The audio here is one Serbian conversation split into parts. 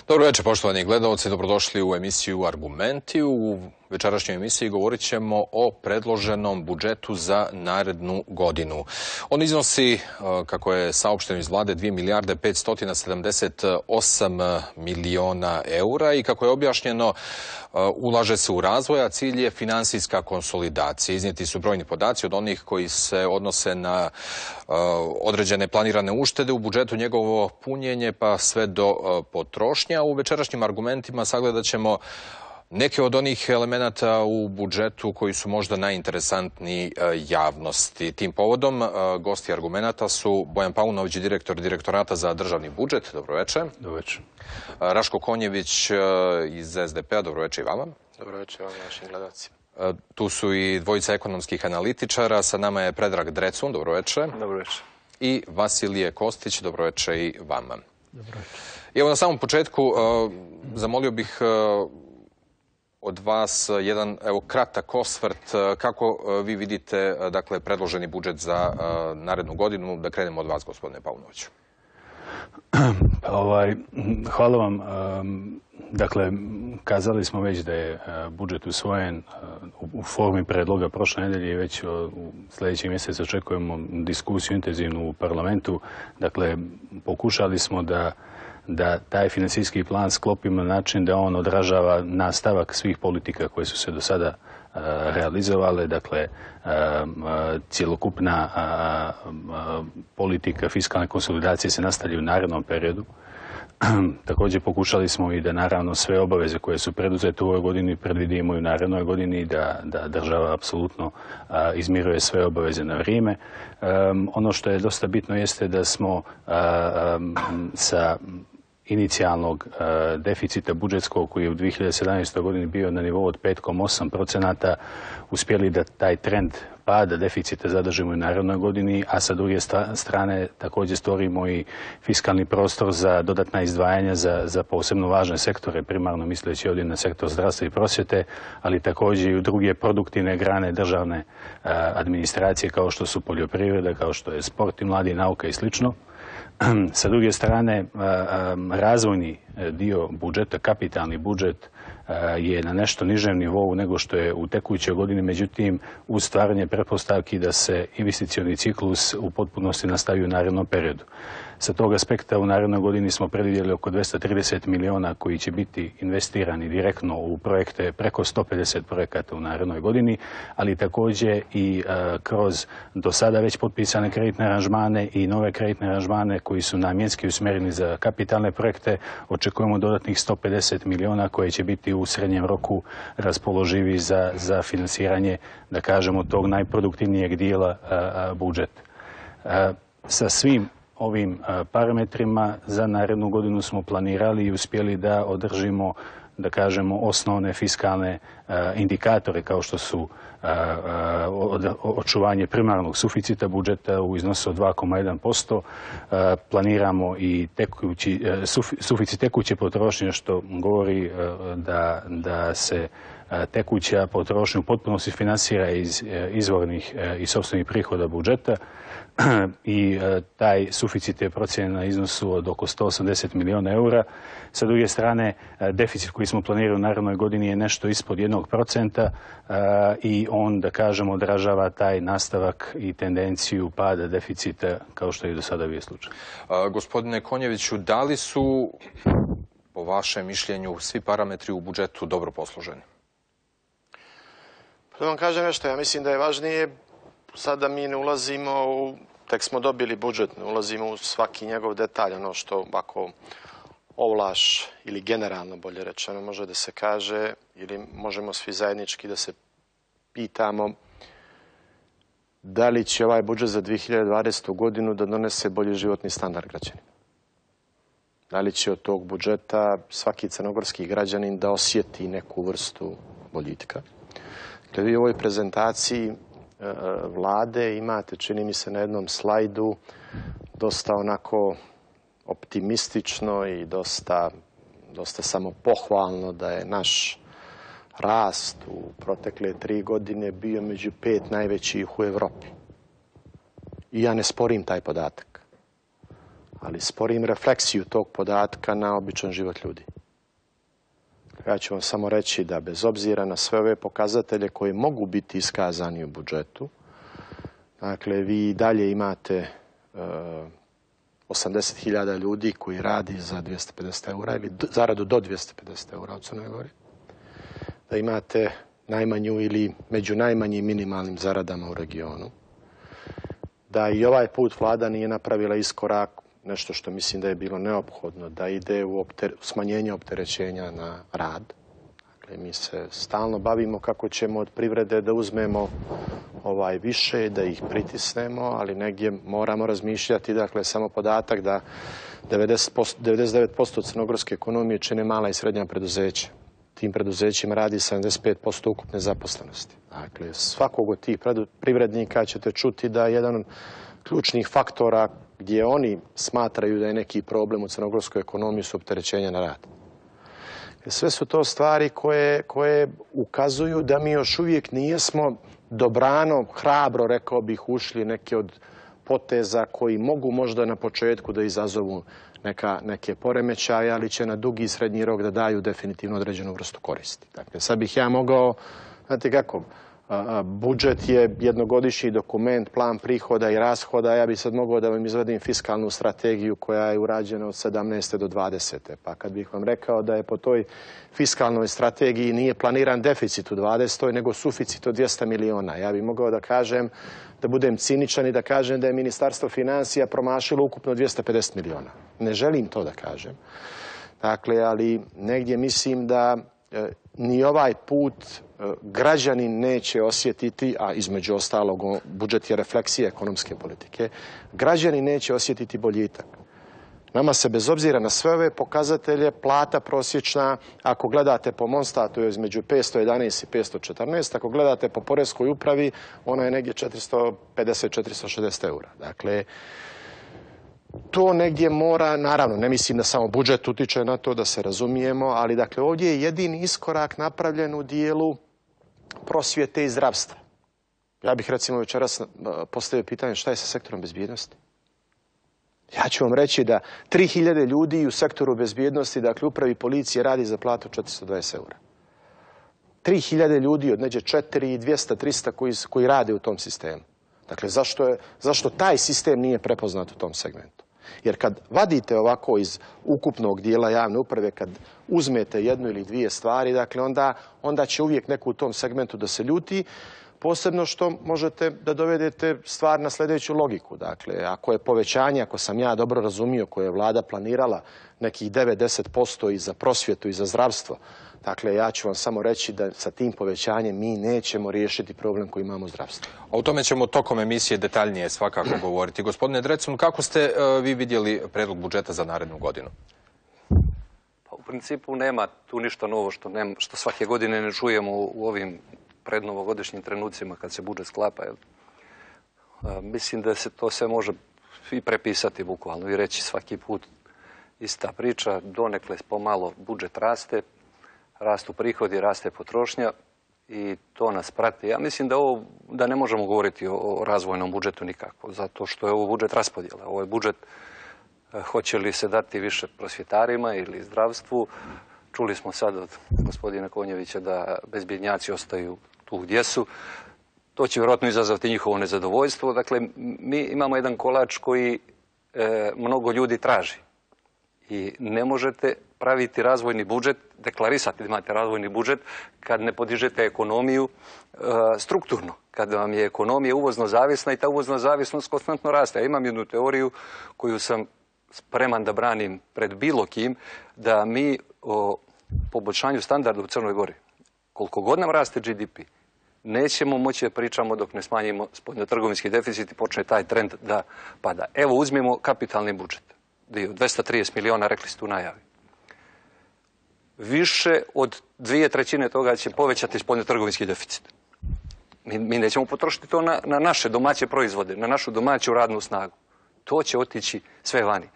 Dobro večer, poštovani gledalci, dobrodošli u emisiju Argumenti. U večerašnjoj emisiji govorit ćemo o predloženom budžetu za narednu godinu. On iznosi, kako je saopšteno iz vlade, 2 milijarde 578 miliona eura i kako je objašnjeno, ulaže se u razvoj, a cilj je finansijska konsolidacija. Iznijeti su brojni podaci od onih koji se odnose na određene planirane uštede u budžetu, njegovo punjenje pa sve do potrošnja. U večerašnjim argumentima sagledat ćemo neke od onih elemenata u budžetu koji su možda najinteresantniji javnosti. Tim povodom gosti argumenata su Bojan Paunović, direktor Direktorata za državni budžet. Dobro večer. Dobro večer. Raško Konjević iz SDP-a. Dobro večer i vama. Dobro večer vam, našim gledalcima. Tu su i dvojica ekonomskih analitičara. Sa nama je Predrag Drecun. Dobro večer. Dobro večer. I Vasilije Kostić. Dobro večer i vama. Dobro večer. I evo na samom početku zamolio bih od vas jedan kratak osvrt. Kako vi vidite predloženi budžet za narednu godinu? Da krenemo od vas, gospodine Paunoviću. Hvala vam. Dakle, kazali smo već da je budžet usvojen u formi predloga prošle nedelje i već u sljedećem mjesecu očekujemo diskusiju intenzivnu u parlamentu. Dakle, pokušali smo da taj financijski plan sklopimo na način da on odražava nastavak svih politika koje su se do sada realizovale. Dakle, cjelokupna politika fiskalne konsolidacije se nastavlja u narednom periodu. Također pokušali smo i da naravno sve obaveze koje su preduzete u ovoj godini predvidimo i u narednoj godini, da država apsolutno izmiruje sve obaveze na vrijeme. Ono što je dosta bitno jeste da smo sa inicijalnog deficita budžetskog koji je u 2017. godini bio na nivou od 5,8% uspjeli da taj trend pada deficita zadržimo i u narednoj godini, a sa druge strane također stvorimo i fiskalni prostor za dodatna izdvajanja za posebno važne sektore, primarno misleći ovdje na sektor zdravstva i prosvjete, ali također i u druge produktivne grane državne administracije kao što su poljoprivreda, kao što je sport i mladi, nauka i slično. Sa druge strane, razvojni dio budžeta, kapitalni budžet je na nešto nižem nivou nego što je u tekućoj godini, međutim, uz stvaranje pretpostavki da se investicioni ciklus u potpunosti nastavi u narednom periodu. Sa tog aspekta u narednoj godini smo predvidjeli oko 230 miliona koji će biti investirani direktno u projekte, preko 150 projekata u narednoj godini, ali također i kroz do sada već potpisane kreditne aranžmane i nove kreditne aranžmane koji su namjenski usmjereni za kapitalne projekte. Očekujemo dodatnih 150 miliona koje će biti u srednjem roku raspoloživi za financiranje, da kažemo, tog najproduktivnijeg dijela budžeta. Sa svim ovim parametrima za narednu godinu smo planirali i uspjeli da održimo, da kažemo, osnovne fiskalne indikatore kao što su očuvanje primarnog suficita budžeta u iznosu od 2,1%. Planiramo i suficit tekuće potrošnje, što govori da se tekuća potrošnja u potpunosti finansira iz izvornih i sopstvenih prihoda budžeta i taj suficit je procijenjen na iznosu od oko 180 miliona eura. Sa druge strane, deficit koji smo planirali u narednoj godini je nešto ispod 1% i on, da kažemo, odražava taj nastavak i tendenciju pada deficita kao što je do sada bio slučaj. Gospodine Konjeviću, da li su, po vašem mišljenju, svi parametri u budžetu dobro posloženi? Da vam kažem nešto, ja mislim da je važnije, sada mi ne ulazimo tek smo dobili budžet, ne ulazimo u svaki njegov detalj, ono što ako ovlaš ili generalno, bolje rečeno, može da se kaže, ili možemo svi zajednički da se pitamo da li će ovaj budžet za 2020. godinu da donese bolji životni standard građanima. Da li će od tog budžeta svaki crnogorski građanin da osjeti neku vrstu boljitka. Kad vi u ovoj prezentaciji vlade imate, čini mi se na jednom slajdu, dosta onako optimistično i dosta samopohvalno da je naš rast u protekle 3 godine bio među 5 najvećih u Evropi. I ja ne sporim taj podatak. ali sporim refleksiju tog podatka na običan život ljudi. Ja ću vam samo reći da bez obzira na sve ove pokazatelje koji mogu biti iskazani u budžetu, dakle, vi dalje imate 80.000 ljudi koji radi za 250 eura ili zaradu do 250 eura u Crnoj Gori. Da imate najmanju ili među najmanjim minimalnim zaradama u regionu. Da i ovaj put vlada nije napravila iskorak, nešto što mislim da je bilo neophodno, da ide u smanjenje opterećenja na rad. Dakle, mi se stalno bavimo kako ćemo od privrede da uzmemo više, da ih pritisnemo, ali negdje moramo razmišljati, dakle, samo podatak da 99% crnogorske ekonomije čine mala i srednja preduzeća. Tim preduzećima radi 75% ukupne zaposlenosti. Dakle, svakog od tih privrednika ćete čuti da je jedan od ključnih faktora gdje oni smatraju da je neki problem u crnogorskoj ekonomiji su opterećenja na rad. Sve su to stvari koje ukazuju da mi još uvijek nijesmo dobrano, hrabro, rekao bih, ušli neke od poteza koji mogu možda na početku da izazovu neke poremećaje, ali će na dugi i srednji rok da daju definitivno određenu vrstu koristi. Dakle, sad bih ja mogao, znate kako, budžet je jednogodišnji dokument, plan prihoda i rashoda. Ja bih sad mogao da vam izvedim fiskalnu strategiju koja je urađena od 17. do 20. Pa kad bih vam rekao da je po toj fiskalnoj strategiji nije planiran deficit u 20. nego suficit od 200 miliona. Ja bih mogao da kažem, da budem ciničan i da kažem da je Ministarstvo financija promašilo ukupno 250 miliona. Ne želim to da kažem. Dakle, ali negdje mislim da ni ovaj put građani neće osjetiti, a između ostalog budžet je refleksija ekonomske politike, građani neće osjetiti boljitak. Nama se bez obzira na sve ove pokazatelje plata prosječna, ako gledate po Monstatu je između 511 i 514, ako gledate po poreskoj upravi ona je negdje 450-460 eura. Dakle, to negdje mora, naravno, ne mislim da samo budžet utiče na to, da se razumijemo, ali dakle ovdje je jedini iskorak napravljen u dijelu prosvjete i zdravstva. Ja bih recimo večeras postavio pitanje šta je sa sektorom bezbjednosti. Ja ću vam reći da 3000 ljudi u sektoru bezbjednosti, dakle upravi policije, radi za platu 420 eura. 3000 ljudi od neđe 4, 200, 300 koji rade u tom sistemu. Dakle, zašto taj sistem nije prepoznat u tom segmentu? Jer kad vadite ovako iz ukupnog dijela javne uprave, kad uzmete jednu ili dvije stvari, dakle, onda će uvijek neko u tom segmentu da se ljuti, posebno što možete da dovedete stvar na sljedeću logiku. Dakle, ako je povećanje, ako sam ja dobro razumio, koje je vlada planirala nekih 9-10% i za prosvjetu i za zdravstvo, dakle, ja ću vam samo reći da sa tim povećanjem mi nećemo riješiti problem koji imamo u zdravstvu. O tome ćemo tokom emisije detaljnije svakako govoriti. Gospodine Drecun, kako ste vi vidjeli predlog budžeta za narednu godinu? Pa, u principu nema tu ništa novo što svake godine ne čujemo u ovim prednovogodišnjim trenucima kad se budžet sklapa. Mislim da se to sve može i prepisati bukvalno i reći svaki put ista priča. Donekle pomalo budžet raste, rastu prihodi, raste potrošnja i to nas prati. Ja mislim da ne možemo govoriti o razvojnom budžetu nikako, zato što je ovo budžet raspodjela. Ovo je budžet hoće li se dati više prosvjetarima ili zdravstvu. Čuli smo sad od gospodina Konjevića da bezbjednjaci ostaju tu gdje su. To će vjerojatno izazvati njihovo nezadovoljstvo. Dakle, mi imamo jedan kolač koji mnogo ljudi traži. I ne možete praviti razvojni budžet, deklarisati da imate razvojni budžet kad ne podižete ekonomiju strukturno. Kad vam je ekonomija uvozno zavisna i ta uvozna zavisnost konstantno raste. Ja imam jednu teoriju koju sam spreman da branim pred bilo kim, da mi o poboljšanju standarda u Crnoj Gori, koliko god nam raste GDP, nećemo moći da pričamo dok ne smanjimo spoljnotrgovinski deficit i počne taj trend da pada. Evo, uzmimo kapitalni budžet. 230 miliona, rekli ste u najavi. Više od 2/3 toga će povećati spoljnotrgovinski deficit. Mi nećemo potrošiti to na naše domaće proizvode, na našu domaću radnu snagu. To će otići sve vani.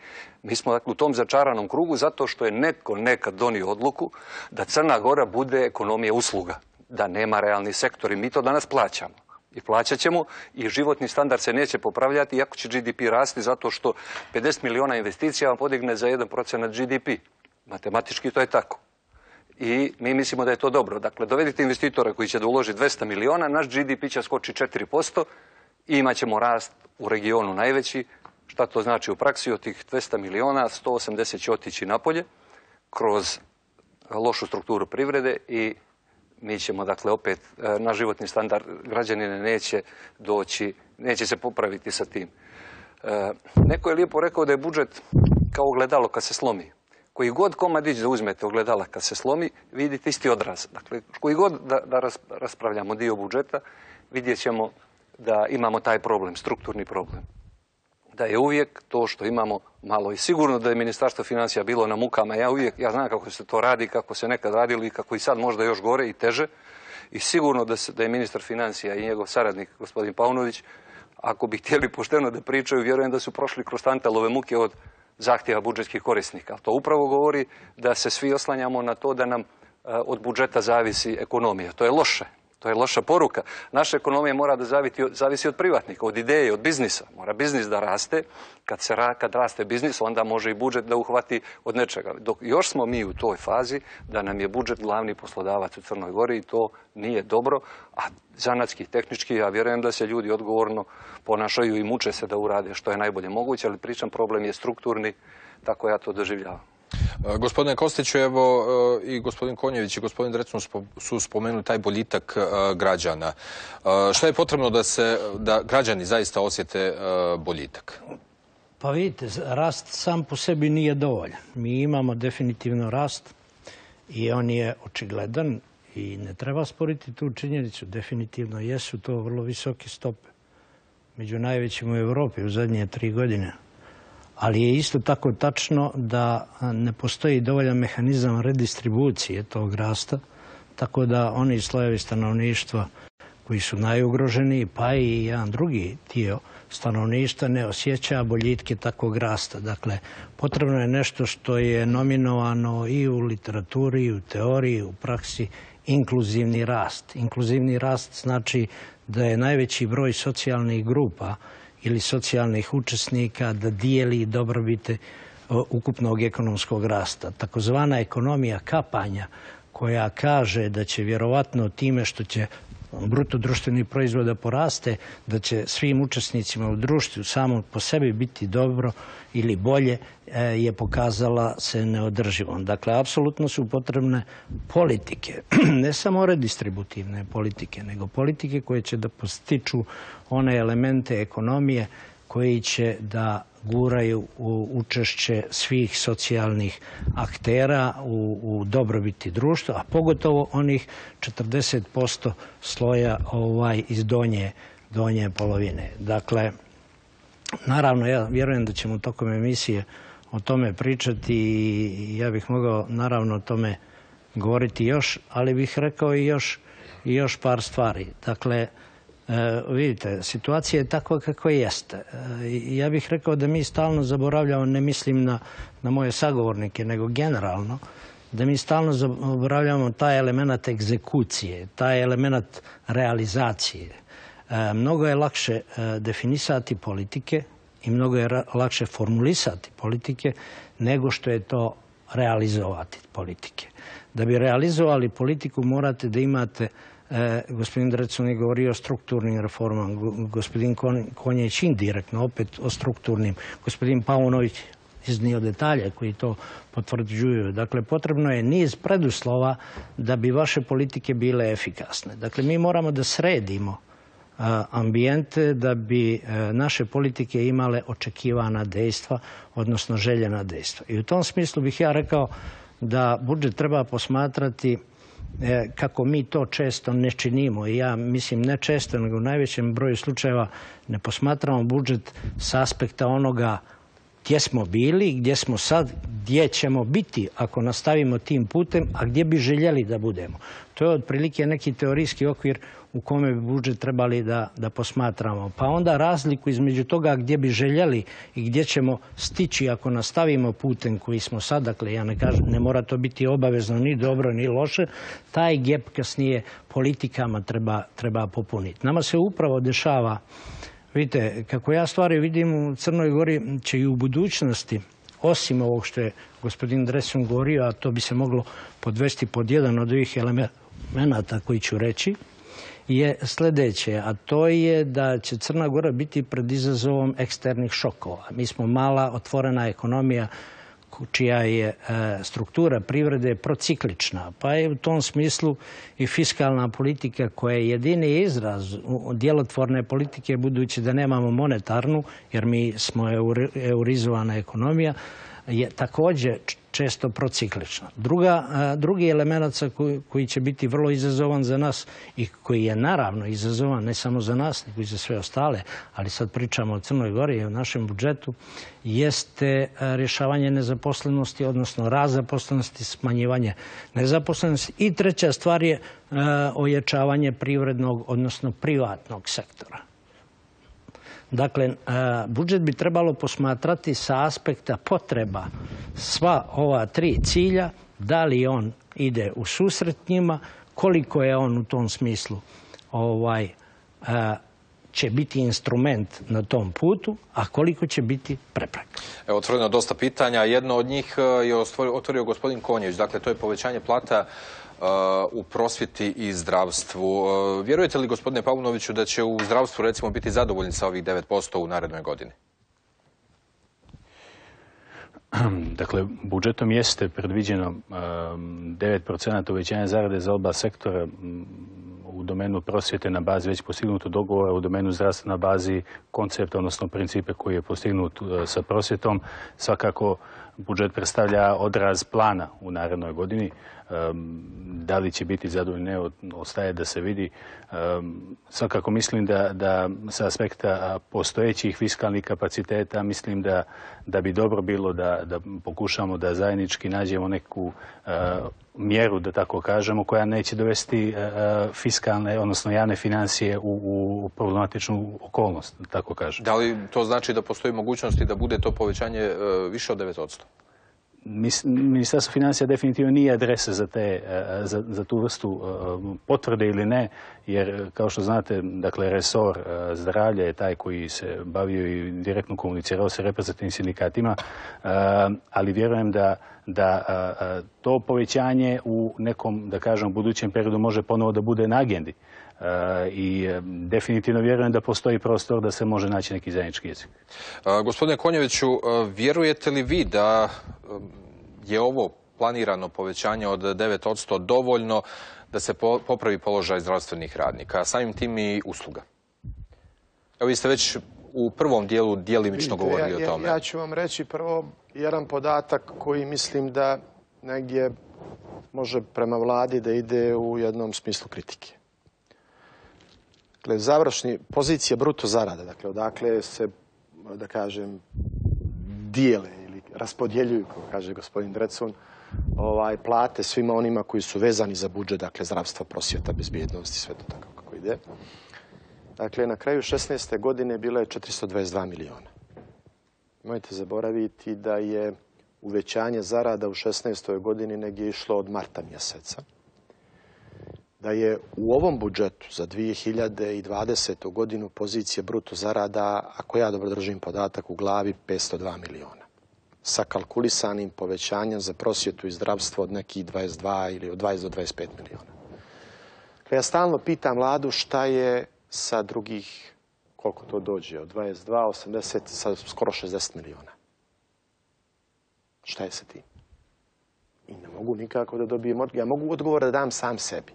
Mi smo dakle u tom začaranom krugu zato što je netko nekad donio odluku da Crna Gora bude ekonomija usluga, da nema realni sektor i mi to danas plaćamo. I plaćat ćemo i životni standard se neće popravljati iako će GDP rasti zato što 50 miliona investicija vam podigne za 1% GDP. Matematički to je tako. I mi mislimo da je to dobro. Dakle, dovedite investitora koji će da uloži 200 miliona, naš GDP će skoči 4% i imat ćemo rast u regionu najveći. Šta to znači u praksi? Od tih 200 miliona, 180 će otići napolje kroz lošu strukturu privrede i mi ćemo, dakle, opet na životni standard građanine neće doći, neće se popraviti sa tim. Neko je lijepo rekao da je budžet kao ogledalo kad se slomi. Koji god komadić da uzmete ogledala kad se slomi, vidite isti odraz. Dakle, koji god da raspravljamo dio budžeta, vidjet ćemo da imamo taj problem, strukturni problem. Da je uvijek to što imamo malo. I sigurno da je Ministarstvo financija bilo na mukama. Ja znam kako se to radi, kako se nekad radili i kako i sad možda još gore i teže. I sigurno da je ministar financija i njegov saradnik, gospodin Paunović, ako bi htjeli pošteno da pričaju, vjerujem da su prošli kroz tantalove muke od zahtjeva budžetskih korisnika. To upravo govori da se svi oslanjamo na to da nam od budžeta zavisi ekonomija. To je loše. To je loša poruka. Naša ekonomija mora da zavisi od privatnika, od ideje, od biznisa. Mora biznis da raste. Kad raste biznis, onda može i budžet da uhvati od nečega. Dok još smo mi u toj fazi da nam je budžet glavni poslodavac u Crnoj Gori i to nije dobro. A zanatski, tehnički, ja vjerujem da se ljudi odgovorno ponašaju i muče se da urade što je najbolje moguće, ali pričam, problem je strukturni, tako ja to doživljavam. Gospodine Kostiću, evo i gospodin Konjević i gospodin Drecun su spomenuli taj boljitak građana. Šta je potrebno da građani zaista osjete boljitak? Pa vidite, rast sam po sebi nije dovoljan. Mi imamo definitivno rast i on je očigledan i ne treba sporiti tu činjenicu. Definitivno jesu to vrlo visoke stope. Među najvećim u Evropi u zadnje 3 godine. Ali je isto tako tačno da ne postoji dovoljan mehanizam redistribucije tog rasta, tako da oni slojevi stanovništva koji su najugroženiji, pa i jedan drugi dio stanovništva ne osjeća boljitke takvog rasta. Dakle, potrebno je nešto što je nominovano i u literaturi, i u teoriji, u praksi, inkluzivni rast. Inkluzivni rast znači da je najveći broj socijalnih grupa ili socijalnih učesnika da dijeli dobrobite ukupnog ekonomskog rasta. Takozvana ekonomija kapanja koja kaže da će vjerovatno time što će bruto društveni proizvod da poraste, da će svim učesnicima u društvu samo po sebi biti dobro ili bolje, je pokazala se neodrživom. Dakle, apsolutno su potrebne politike, ne samo redistributivne politike, nego politike koje će da postiču one elemente ekonomije koji će da guraju u učešće svih socijalnih aktera u dobrobiti društva, a pogotovo onih 40% sloja iz donje polovine. Dakle, naravno, ja vjerujem da ćemo tokom emisije o tome pričati i ja bih mogao naravno o tome govoriti još, ali bih rekao i još par stvari. Dakle, vidite, situacija je takva kakva jeste. Ja bih rekao da mi stalno zaboravljamo, ne mislim na moje sagovornike, nego generalno, da mi stalno zaboravljamo taj element egzekucije, taj element realizacije. Mnogo je lakše definisati politike i mnogo je lakše formulisati politike nego što je to realizovati politike. Da bi realizovali politiku morate da imate, gospodin Drecun je govorio o strukturnim reformama, gospodin Konjić indirektno opet o strukturnim, gospodin Paunović iznio detalje koji to potvrđuju. Dakle, potrebno je niz preduslova da bi vaše politike bile efikasne. Dakle, mi moramo da sredimo ambijente da bi naše politike imale očekivana dejstva, odnosno željena dejstva. I u tom smislu bih ja rekao da budžet treba posmatrati kako mi to često ne činimo. I ja mislim ne često, nego u najvećem broju slučajeva ne posmatramo budžet s aspekta onoga gdje smo bili, gdje smo sad, gdje ćemo biti ako nastavimo tim putem, a gdje bi željeli da budemo. To je otprilike neki teorijski okvir u kome bi budžet trebali da posmatramo. Pa onda razliku između toga gdje bi željeli i gdje ćemo stići ako nastavimo putem koji smo sad, dakle ja ne kažem, ne mora to biti obavezno ni dobro ni loše, taj gap kasnije politikama treba popuniti. Nama se upravo dešava, vidite, kako ja stvari vidim u Crnoj Gori će i u budućnosti, osim ovog što je gospodin Drecun govorio, a to bi se moglo podvesti pod jedan od ovih elemenata koji ću reći, je sljedeće, a to je da će Crna Gora biti pred izazovom eksternih šokova. Mi smo mala, otvorena ekonomija čija je struktura privrede prociklična, pa je u tom smislu i fiskalna politika koja je jedini izraz djelotvorne politike, budući da nemamo monetarnu, jer mi smo eurizovana ekonomija, je također često prociklična. Drugi element koji će biti vrlo izazovan za nas i koji je naravno izazovan ne samo za nas, nego i za sve ostale, ali sad pričamo o Crnoj Gori i o našem budžetu, jeste rješavanje nezaposlenosti, odnosno rast zaposlenosti, smanjivanje nezaposlenosti. I treća stvar je ojačavanje privrednog, odnosno privatnog sektora. Dakle, budžet bi trebalo posmatrati sa aspekta potreba sva ova tri cilja, da li on ide u susret njima, koliko je on u tom smislu će biti instrument na tom putu, a koliko će biti prepreka. Evo, otvoreno dosta pitanja. Jedno od njih je otvorio gospodin Konjević. Dakle, to je povećanje plata u prosvjeti i zdravstvu. Vjerujete li, gospodine Paunoviću, da će u zdravstvu recimo biti zadovoljni sa ovih 9% u narednoj godini? Dakle, budžetom jeste predviđeno 9% uvećanja zarade za oba sektora u domenu prosvjete na bazi već postignutog dogovora, u domenu zdravstva na bazi koncepta, odnosno principe koji je postignut sa prosvjetom. Svakako, budžet predstavlja odraz plana u narednoj godini. Da li će biti zadovoljni, ne, ostaje da se vidi. Svakako mislim da sa aspekta postojećih fiskalnih kapaciteta mislim da bi dobro bilo da pokušamo da zajednički nađemo neku mjeru, da tako kažemo, koja neće dovesti fiskalne, odnosno javne financije u problematičnu okolnost, da tako kažem. Da li to znači da postoji mogućnosti da bude to povećanje više od 9%? Ministarstvo financija definitivno nije adresa za tu vrstu potvrde ili ne, jer kao što znate, dakle, resor zdravlja je taj koji se bavio i direktno komunicirao sa reprezentativnim sindikatima, ali vjerujem da to povećanje u nekom, da kažem, budućem periodu može ponovo da bude na agendi. I definitivno vjerujem da postoji prostor da se može naći neki zajednički jezik. Gospodine Konjeviću, vjerujete li vi da je ovo planirano povećanje od 9% dovoljno da se popravi položaj zdravstvenih radnika, samim tim i usluga? Evo, vi ste već u prvom dijelu djelimično govorili o tome. Ja ću vam reći prvo jedan podatak koji mislim da negdje može prema vladi da ide u jednom smislu kritike. Dakle, završni pozicija bruto zarada, dakle, odakle se, da kažem, dijele ili raspodjeljuju, kako kaže gospodin Drecun, plate svima onima koji su vezani za budžet, dakle, zdravstva, prosvjeta, bezbjednosti, sve to tako kako ide. Dakle, na kraju 16. godine bilo je 422 miliona. Nemojte zaboraviti da je uvećanje zarada u 16. godini negdje išlo od marta mjeseca. Da je u ovom budžetu za 2020. godinu pozicija bruto zarada, ako ja dobro držim podatak u glavi, 502 miliona. Sa kalkulisanim povećanjem za prosvjetu i zdravstvo od nekih 22 ili od 20 do 25 miliona. Ja stalno pitam vladu šta je sa drugih, koliko to dođe, od 22, 80, sa skoro 60 miliona. Šta je sa tim? I ne mogu nikako da dobijem odgovor. Ja mogu odgovor da dam sam sebi.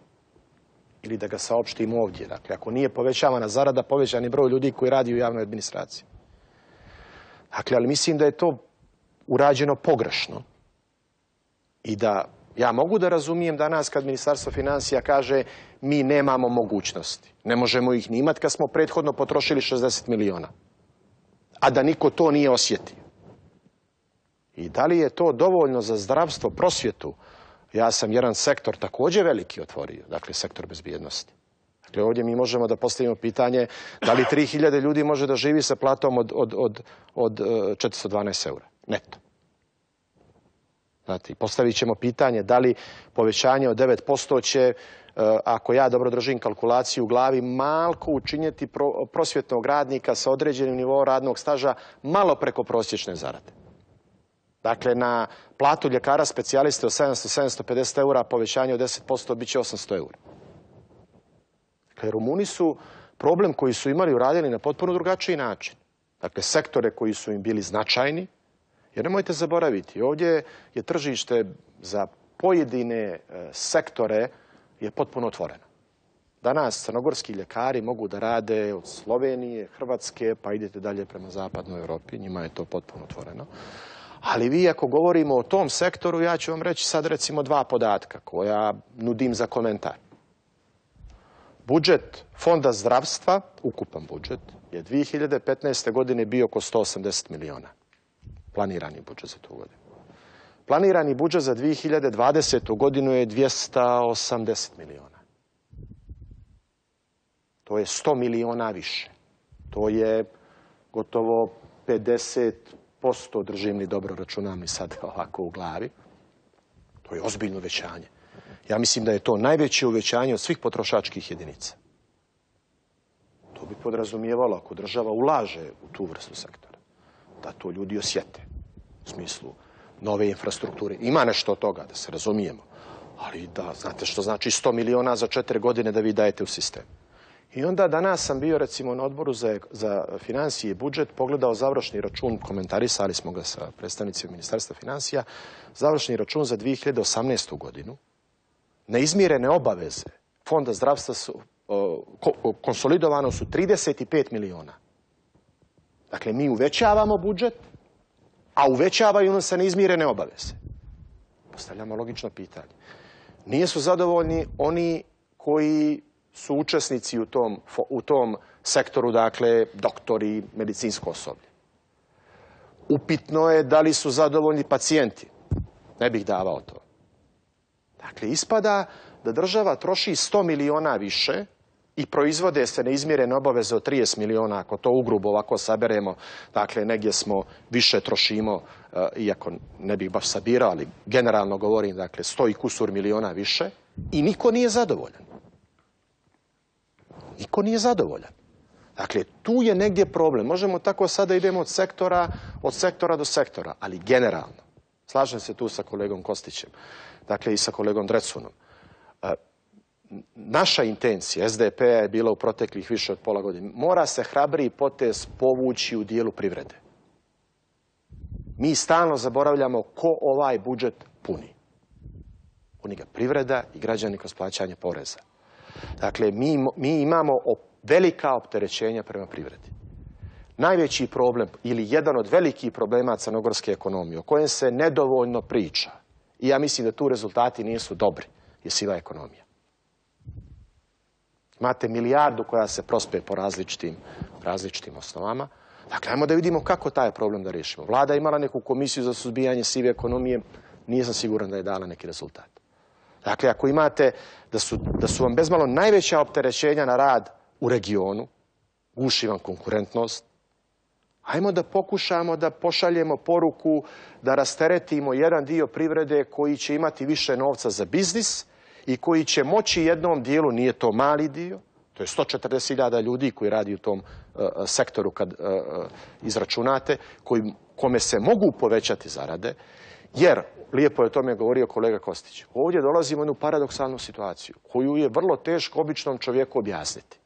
Ili da ga saopštim ovdje. Dakle, ako nije povećavana zarada, povećan je broj ljudi koji radi u javnoj administraciji. Dakle, ali mislim da je to urađeno pogrešno. I da ja mogu da razumijem danas kad Ministarstvo financija kaže mi nemamo mogućnosti. Ne možemo ih ni imati kad smo prethodno potrošili 60 miliona. A da niko to nije osjetio. I da li je to dovoljno za zdravstvo, prosvjetu? Ja sam jedan sektor također veliki otvorio, dakle sektor bezbjednosti. Dakle, ovdje mi možemo da postavimo pitanje da li 3000 ljudi može da živi sa platom od 412 eura neto. Znate, postavit ćemo pitanje da li povećanje od 9% će, ako ja dobro držim kalkulaciju u glavi, malko učinjeti prosvjetnog radnika sa određenim nivoom radnog staža malo preko prosječne zarade. Dakle, na platu ljekara specijaliste od 700-750 eura, povećanje od 10% bit će 800 eura. Dakle, Rumuni su problem koji su imali uradili na potpuno drugačiji način. Dakle, sektore koji su im bili značajni, jer nemojte zaboraviti, ovdje je tržište za pojedine sektore je potpuno otvoreno. Danas crnogorski ljekari mogu da rade od Slovenije, Hrvatske, pa idete dalje prema zapadnoj Europi, njima je to potpuno otvoreno. Ali vi ako govorimo o tom sektoru, ja ću vam reći sad recimo 2 podatka koja nudim za komentar. Budžet Fonda zdravstva, ukupan budžet, je 2015. godine bio oko 180 miliona. Planirani budžet za tu godinu. Planirani budžet za 2020. godinu je 280 miliona. To je 100 miliona više. To je gotovo 50%, držim li dobro, računam li sad ovako u glavi. To je ozbiljno uvećanje. Ja mislim da je to najveće uvećanje od svih potrošačkih jedinica. To bi podrazumijevalo ako država ulaže u tu vrstu sektora, da to ljudi osjete u smislu nove infrastrukture. Ima nešto od toga, da se razumijemo, ali da znate što znači 100 miliona za 4 godine da vi dajete u sistem. I onda danas sam bio recimo na odboru za financije i budžet, pogledao završni račun, komentarisali smo ga sa predstavnicima Ministarstva financija, završni račun za 2018. godinu. Neizmirene obaveze Fonda zdravstva su konsolidovano su 35 miliona. Dakle, mi uvećavamo budžet, a uvećavaju nam se neizmirene obaveze. Postavljamo logično pitanje. Nisu zadovoljni oni koji su učesnici u tom sektoru, dakle, doktori, medicinsko osoblje. Upitno je da li su zadovoljni pacijenti. Ne bih davao to. Dakle, ispada da država troši 100 miliona više i proizvode se neizmjerene obaveze od 30 miliona, ako to ugrubo ovako saberemo, dakle, negdje smo više trošimo, iako ne bih baš sabirao, ali generalno govorim, dakle, 100 i kusur miliona više i niko nije zadovoljan. Niko nije zadovoljan. Dakle, tu je negdje problem. Možemo tako sada idemo od sektora do sektora, ali generalno. Slažem se tu sa kolegom Kostićem, dakle i sa kolegom Drecunom. Naša intencija SDP-a je bila u proteklih više od pola godine. Mora se hrabriji potez povući u dijelu privrede. Mi stalno zaboravljamo ko ovaj budžet puni. Puni ga privreda i građani kroz plaćanje poreza. Dakle, mi imamo velika opterećenja prema privredi. Najveći problem ili jedan od velikih problema crnogorske ekonomije o kojem se nedovoljno priča, i ja mislim da tu rezultati nisu dobri, je siva ekonomija. Imate milijardu koja se prospe po različitim osnovama. Dakle, ajmo da vidimo kako taj problem da riješimo. Vlada je imala neku komisiju za suzbijanje sive ekonomije, nisam siguran da je dala neki rezultat. Dakle, ako imate da su vam bezmalo najveća opterećenja na rad u regionu, guši vam konkurentnost, ajmo da pokušamo da pošaljemo poruku da rasteretimo jedan dio privrede koji će imati više novca za biznis i koji će moći jednom dijelu, nije to mali dio, to je 140.000 ljudi koji radi u tom sektoru kad izračunate, kome se mogu povećati zarade, jer, lijepo je o tome govorio kolega Kostić, ovdje dolazimo u jednu paradoksalnu situaciju koju je vrlo teško običnom čovjeku objasniti.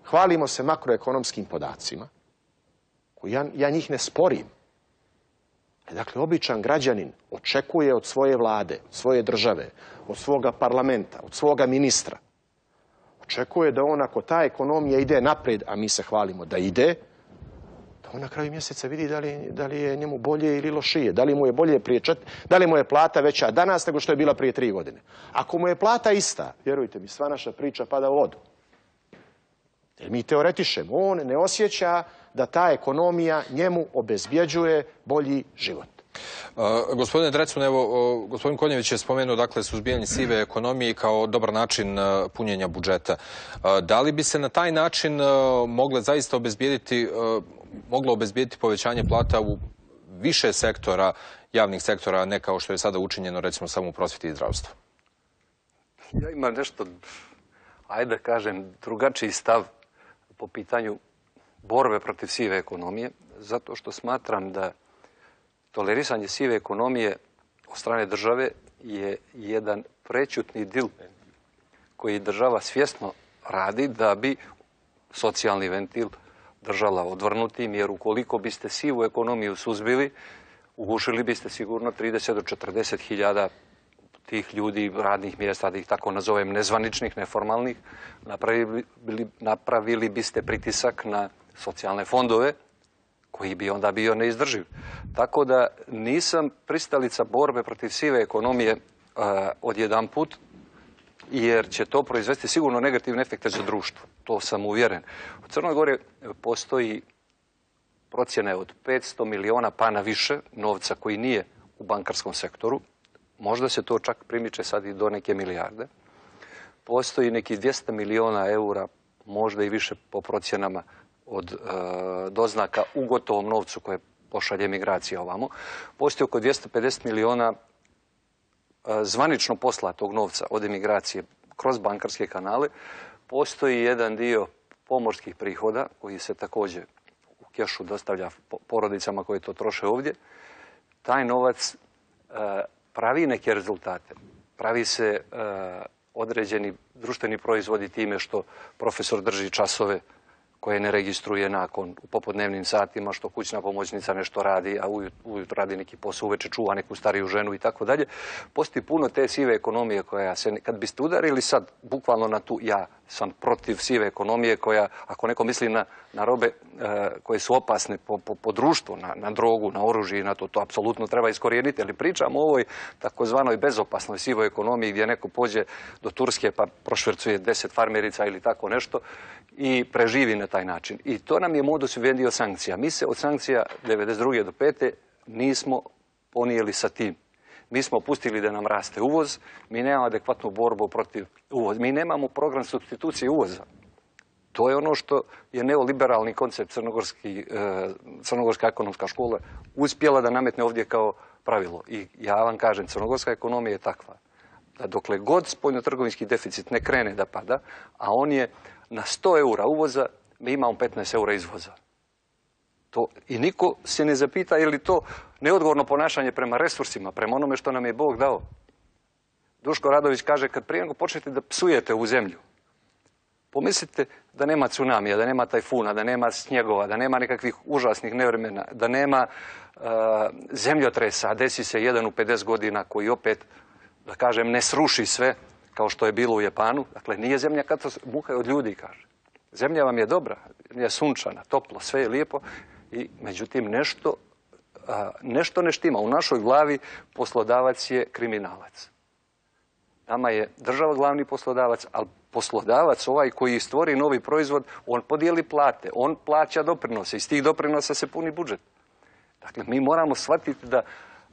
Hvalimo se makroekonomskim podacima, koji ja njih ne sporim. Dakle, običan građanin očekuje od svoje vlade, od svoje države, od svoga parlamenta, od svoga ministra. Očekuje da on, ako ta ekonomija ide naprijed, a mi se hvalimo da ide, da on na kraju mjeseca vidi da li je njemu bolje ili lošije, da li mu je bolje da li mu je plata veća danas nego što je bila prije 3 godine. Ako mu je plata ista, vjerujte mi, sva naša priča pada u vodu. Jer mi teoretišemo, on ne osjeća da ta ekonomija njemu obezbjeđuje bolji život. Gospodine Drecun, evo, gospodin Konjević je spomenuo, dakle, suzbijanje sive ekonomije kao dobar način punjenja budžeta. Da li bi se na taj način moglo obezbijediti povećanje plata u više sektora, javnih sektora, ne kao što je sada učinjeno, recimo, samo u prosvjeti i zdravstvu? Ja imam nešto, ajde da kažem, drugačiji stav po pitanju borbe protiv sive ekonomije, zato što smatram da tolerisanje sive ekonomije od strane države je jedan prećutni dil koji država svjesno radi da bi socijalni ventil držala odvrnutim, jer ukoliko biste sivu ekonomiju suzbili, ugušili biste sigurno 30 do 40 hiljada tih ljudi, radnih mjesta, da ih tako nazovem, nezvaničnih, neformalnih, napravili biste pritisak na socijalne fondove, koji bi onda bio neizdrživ. Tako da nisam pristalica borbe protiv sive ekonomije odjedanput, jer će to proizvesti sigurno negativne efekte za društvo. To sam uvjeren. U Crnoj Gori postoji procjene od 500 miliona pa na više novca koji nije u bankarskom sektoru. Možda se to čak primiče sad i do neke milijarde. Postoji neki 200 miliona eura, možda i više po procjenama, od doznaka u gotovom novcu koje pošalje migracija ovamo. Postoji oko 250 miliona zvanično poslatog novca od emigracije kroz bankarske kanale. Postoji jedan dio pomorskih prihoda koji se također u kešu dostavlja porodicama koje to troše ovdje. Taj novac pravi neke rezultate. Pravi se određeni društveni proizvodi time što profesor drži časove koje ne registruje nakon u popodnevnim satima, što kućna pomoćnica nešto radi, a ujutro radi neki posao, uveče čuva neku stariju ženu i tako dalje. Postoji puno te sive ekonomije koja se, kad biste udarili sad bukvalno na tu, ja sam protiv sive ekonomije koja, ako neko misli na robe koje su opasne po društvu, na drogu, na oružje i na to apsolutno treba iskorijeniti, ali pričamo o ovoj takozvanoj bezopasnoj sivoj ekonomiji gdje neko pođe do Turske pa prošvercuje 10 farmerica ili tako nešto i preživi na taj način. I to nam je modus vivendi od sankcija. Mi se od sankcija 92. do 5. nismo ponijeli sa tim. Mi smo pustili da nam raste uvoz, mi nemamo adekvatnu borbu protiv uvoza. Mi nemamo program supstitucije uvoza. To je ono što je neoliberalni koncept Crnogorska ekonomska škola uspjela da nametne ovdje kao pravilo. I ja vam kažem, crnogorska ekonomija je takva da dokle god spoljnotrgovinski deficit ne krene da pada, a on je na 100 eura uvoza, mi imamo 15 eura izvoza. I niko se ne zapita je li to neodgovorno ponašanje prema resursima, prema onome što nam je Bog dao. Duško Radović kaže, kad prije nego počnete da psujete u zemlju, pomislite da nema tsunamija, da nema tajfuna, da nema snjegova, da nema nekakvih užasnih nevremena, da nema zemljotresa, a desi se jedan u 50 godina koji opet, da kažem, ne sruši sve kao što je bilo u Japanu. Dakle, nije zemlja muha od ljudi, kaže. Zemlja vam je dobra, je sunčana, toplo, sve je lijepo, i međutim nešto ne štima. U našoj glavi poslodavac je kriminalac. Nama je država glavni poslodavac, ali poslodavac, ovaj koji stvori novi proizvod, on podijeli plate, on plaća doprinose, iz tih doprinosa se puni budžet. Dakle, mi moramo shvatiti da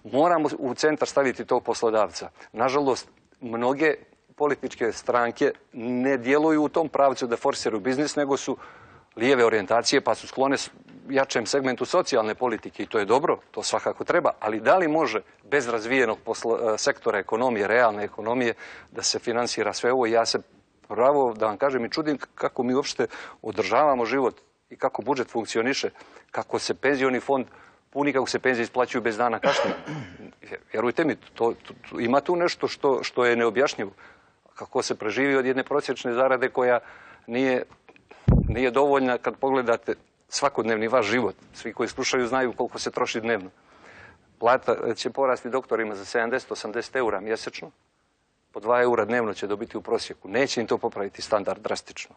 moramo u centar staviti tog poslodavca. Nažalost, mnoge političke stranke ne djeluju u tom pravcu da forsiraju biznis, nego su lijeve orijentacije pa su sklone jačem segmentu socijalne politike i to je dobro, to svakako treba, ali da li može bez razvijenog sektora ekonomije, realne ekonomije, da se finansira sve ovo? Ja se pravo, da vam kažem, i čudim kako mi uopšte održavamo život i kako budžet funkcioniše, kako se penzioni fond puni, kako se penzije isplaćuju bez dana kašnjenja. Vjerujte mi, ima tu nešto što je neobjašnjivo. Kako se preživi od jedne prosječne zarade koja nije dovoljna kad pogledate svakodnevni vaš život. Svi koji slušaju znaju koliko se troši dnevno. Plata će porasti doktorima za 70-80 eura mjesečno. Po 2 eura dnevno će dobiti u prosjeku. Neće im to popraviti standard drastično.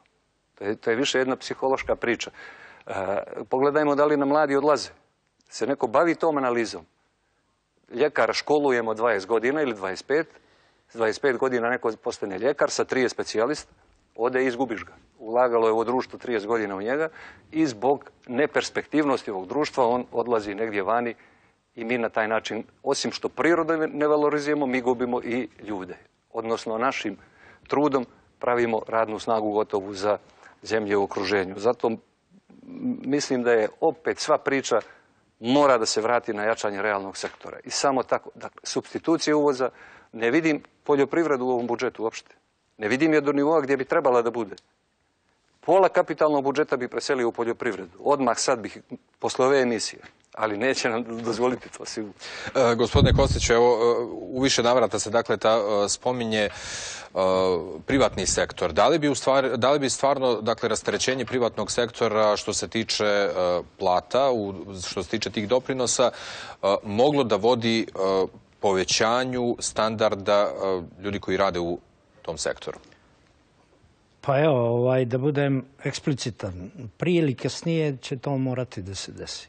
To je više jedna psihološka priča. Pogledajmo da li nam mladi odlaze. Se neko bavi tom analizom. Ljekara školujemo 20 godina ili 25. S 25 godina neko postane ljekar, sa 30 specijalista, ode i izgubiš ga. Ulagalo je ovo društvo 30 godina u njega i zbog neperspektivnosti ovog društva on odlazi negdje vani i mi na taj način, osim što prirodu ne valorizujemo, mi gubimo i ljude. Odnosno, našim trudom pravimo radnu snagu gotovu za zemlje u okruženju. Zato mislim da je opet sva priča mora da se vrati na jačanje realnog sektora. I samo tako, dakle, supstitucije uvoza, ne vidim poljoprivredu u ovom budžetu uopšte. Ne vidim je do nivoa gdje bi trebala da bude. Pola kapitalnog budžeta bi preselio u poljoprivredu. Odmah sad bih, posle ove emisije. Ali neće nam dozvoliti to sigurno. Gospodine Kostiću, evo, u više navrata se dakle spominje privatni sektor. Da li bi stvarno dakle rasterećenje privatnog sektora što se tiče plata, što se tiče tih doprinosa, moglo da vodi povećanju standarda ljudi koji rade u tom sektoru? Pa evo, da budem eksplicitan, prije ili kasnije će to morati da se desi.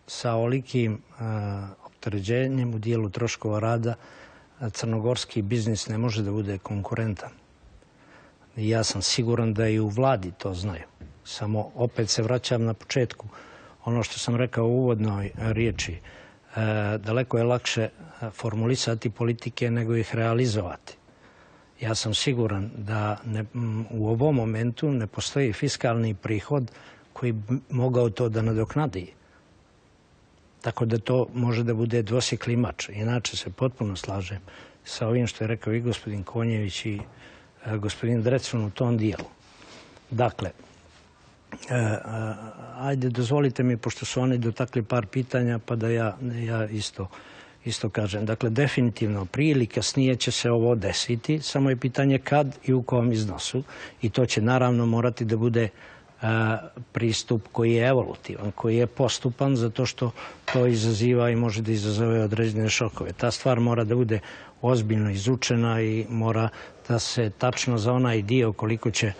Sa olikim opterećenjem u dijelu troškova rada crnogorski biznis ne može da bude konkurentan. I ja sam siguran da i u vladi to znaju. Samo opet se vraćam na početku. Ono što sam rekao u uvodnoj riječi, daleko je lakše formulisati politike nego ih realizovati. Ja sam siguran da u ovom momentu ne postoji fiskalni prihod koji bi mogao to da nadoknadi. Tako da to može da bude dvosjekli mač. Inače se potpuno slažem sa ovim što je rekao i gospodin Konjević i gospodin Drecun u tom dijelu. Dakle, ajde dozvolite mi, pošto su oni dotakli par pitanja, pa da ja isto kažem. Dakle, definitivno prije ili kasnije će se ovo desiti, samo je pitanje kad i u kom iznosu. I to će naravno morati da bude pristup koji je evolutivan, koji je postupan, zato što to izaziva i može da izazove određene šokove. Ta stvar mora da bude ozbiljno izučena i mora da se tačno za onaj dio koliko će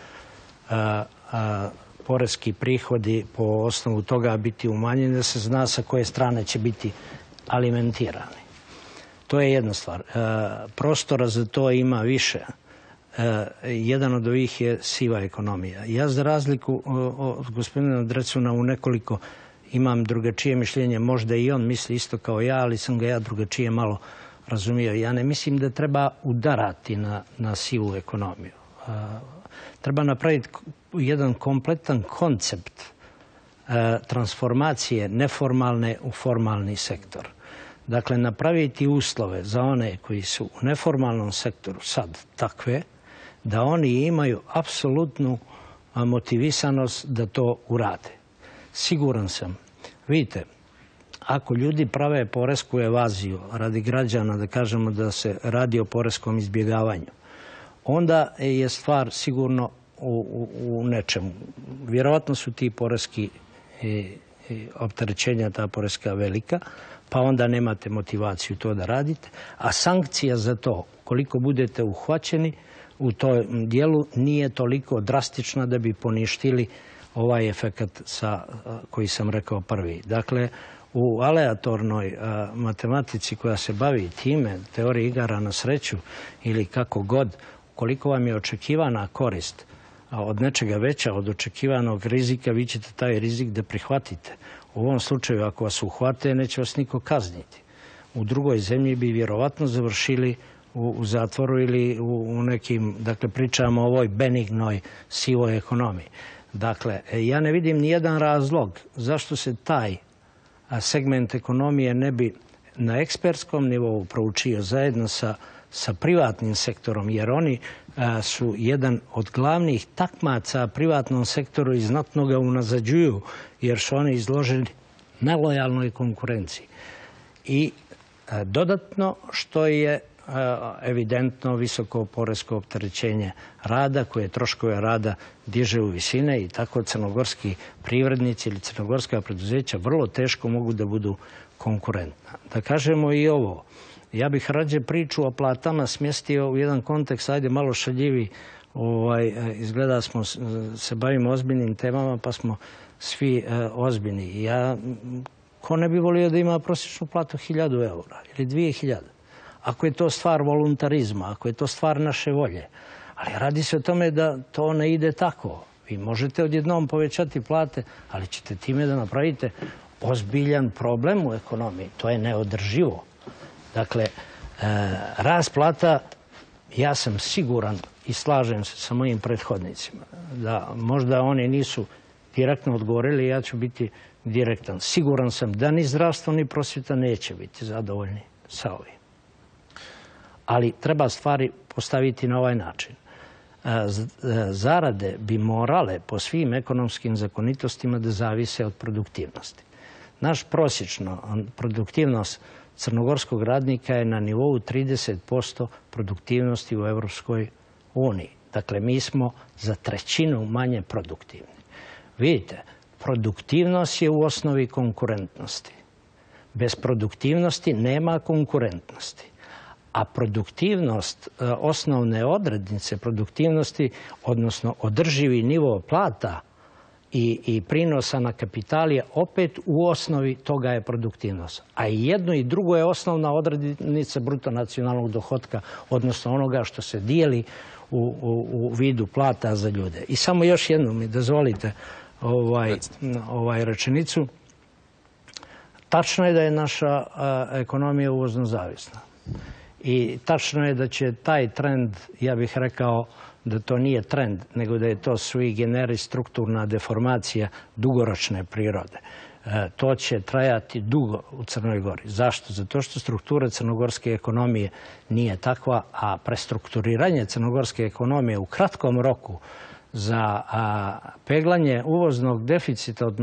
poreski prihodi po osnovu toga biti umanjeni, da se zna sa koje strane će biti alimentirani. To je jedna stvar. Prostora za to ima više. Jedan od ovih je siva ekonomija. Ja za razliku od gospodina Drecuna u nekoliko imam drugačije mišljenje. Možda i on misli isto kao ja, ali sam ga ja drugačije malo razumio. Ja ne mislim da treba udarati na sivu ekonomiju. Treba napraviti jedan kompletan koncept transformacije neformalne u formalni sektor. Dakle, napraviti uslove za one koji su u neformalnom sektoru sad takve, da oni imaju apsolutnu motivisanost da to urade. Siguran sam. Vidite, ako ljudi prave poresku evaziju radi građana, da kažemo da se radi o poreskom izbjegavanju, onda je stvar sigurno u nečemu. Vjerovatno su ti poreski opterećenja, ta poreska velika, pa onda nemate motivaciju to da radite. A sankcija za to, koliko budete uhvaćeni u tom dijelu, nije toliko drastična da bi poništili ovaj efekat koji sam rekao prvi. Dakle, u aleatornoj matematici koja se bavi time, teoriji igara na sreću ili kako god, koliko vam je očekivana korist od nečega veća od očekivanog rizika, vi ćete taj rizik da prihvatite. U ovom slučaju, ako vas uhvate, neće vas niko kazniti. U drugoj zemlji bi vjerovatno završili u zatvoru ili u nekim, dakle, pričamo o ovoj benignoj sivoj ekonomiji. Dakle, ja ne vidim nijedan razlog zašto se taj segment ekonomije ne bi na ekspertskom nivou proučio zajedno sa privatnim sektorom, jer oni su jedan od glavnih takmaca privatnom sektoru i znatno ga unazađuju, jer su oni izloženi nelojalnoj konkurenciji. I dodatno što je evidentno visoko poresko opterećenje rada, koje troškove rada diže u visine i tako crnogorski privrednici ili crnogorska preduzeća vrlo teško mogu da budu konkurentna. Da kažemo i ovo, ja bih rađe priču o platama smjestio u jedan kontekst, ajde malo šaljivi, izgleda smo se bavimo ozbiljnim temama pa smo svi ozbiljni. Ja, ko ne bi volio da ima prosječnu platu 1000 eura ili 2000? Ako je to stvar voluntarizma, ako je to stvar naše volje. Ali radi se o tome da to ne ide tako. Vi možete odjednom povećati plate, ali ćete time da napravite ozbiljan problem u ekonomiji. To je neodrživo. Dakle, rast plata, ja sam siguran i slažem se sa mojim prethodnicima da možda oni nisu direktno odgovorili, ja ću biti direktan. Siguran sam da ni zdravstvo ni prosvjeta neće biti zadovoljni sa ovim. Ali treba stvari postaviti na ovaj način. Zarade bi morale po svim ekonomskim zakonitostima da zavise od produktivnosti. Naš prosječno produktivnost crnogorskog radnika je na nivou 30% produktivnosti u Evropskoj uniji. Dakle, mi smo za trećinu manje produktivni. Vidite, produktivnost je u osnovi konkurentnosti. Bez produktivnosti nema konkurentnosti. A produktivnost, osnovne odrednice produktivnosti, odnosno održivi nivo plata i prinosa na kapital je opet u osnovi toga je produktivnost. A i jedno i drugo je osnovna odrednica bruto nacionalnog dohotka, odnosno onoga što se dijeli u vidu plata za ljude. I samo još jedno mi dozvolite rečenicu. Tačno je da je naša ekonomija uvozno zavisna. I tačno je da će taj trend, ja bih rekao da to nije trend, nego da je to sui generis strukturna deformacija dugoročne prirode. To će trajati dugo u Crnoj Gori. Zašto? Zato što struktura crnogorske ekonomije nije takva, a prestrukturiranje crnogorske ekonomije u kratkom roku za peglanje uvoznog deficita od 1,5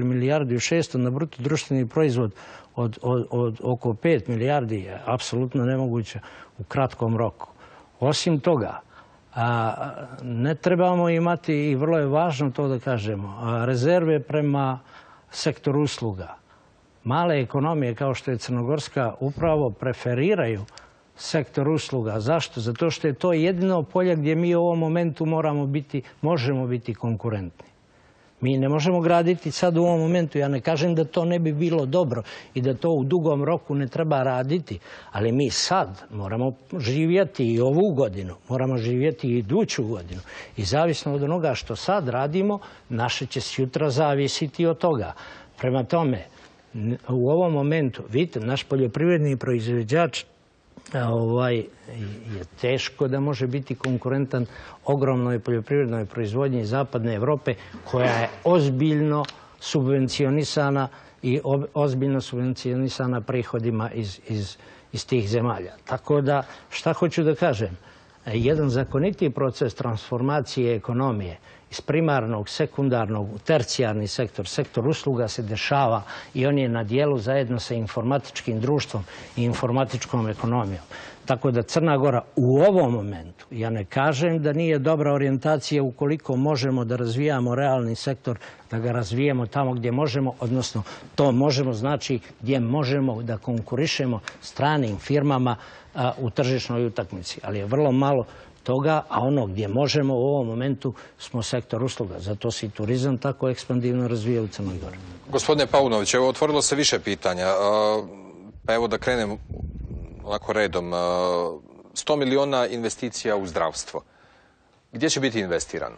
milijardu ili 1,6 milijardi na bruto društveni proizvod od oko 5 milijardi je apsolutno nemoguće u kratkom roku. Osim toga, ne trebamo imati, i vrlo je važno to da kažemo, rezerve prema sektoru usluga. Male ekonomije kao što je crnogorska upravo preferiraju sektor usluga. Zašto? Zato što je to jedino polje gdje mi u ovom momentu možemo biti konkurentni. Mi ne možemo graditi sad u ovom momentu. Ja ne kažem da to ne bi bilo dobro i da to u dugom roku ne treba raditi, ali mi sad moramo živjeti i ovu godinu, moramo živjeti i iduću godinu. I zavisno od onoga što sad radimo, naše će sutra zavisiti od toga. Prema tome, u ovom momentu, vidite, naš poljoprivredni proizvođač je teško da može biti konkurentan ogromnoj poljoprivrednoj proizvodnji Zapadne Evrope koja je ozbiljno subvencionisana i ozbiljno subvencionisana prihodima iz tih zemalja. Tako da, šta hoću da kažem? Jedan zakoniti proces transformacije ekonomije iz primarnog, sekundarnog, tercijarni sektor, sektor usluga se dešava i on je na dijelu zajedno sa informatičkim društvom i informatičkom ekonomijom. Tako da Crna Gora u ovom momentu, ja ne kažem da nije dobra orijentacija ukoliko možemo da razvijamo realni sektor, da ga razvijemo tamo gdje možemo, odnosno to možemo znači gdje možemo da konkurišemo stranim firmama u tržišnoj utakmici. Ali je vrlo malo toga, a ono gdje možemo u ovom momentu smo sektor usluga. Zato se i turizam tako ekspandivno razvija u Crnoj Gori. Gospodine Paunović, evo otvorilo se više pitanja. Pa evo da krenem ovako redom. 100 miliona investicija u zdravstvo. Gdje će biti investirano?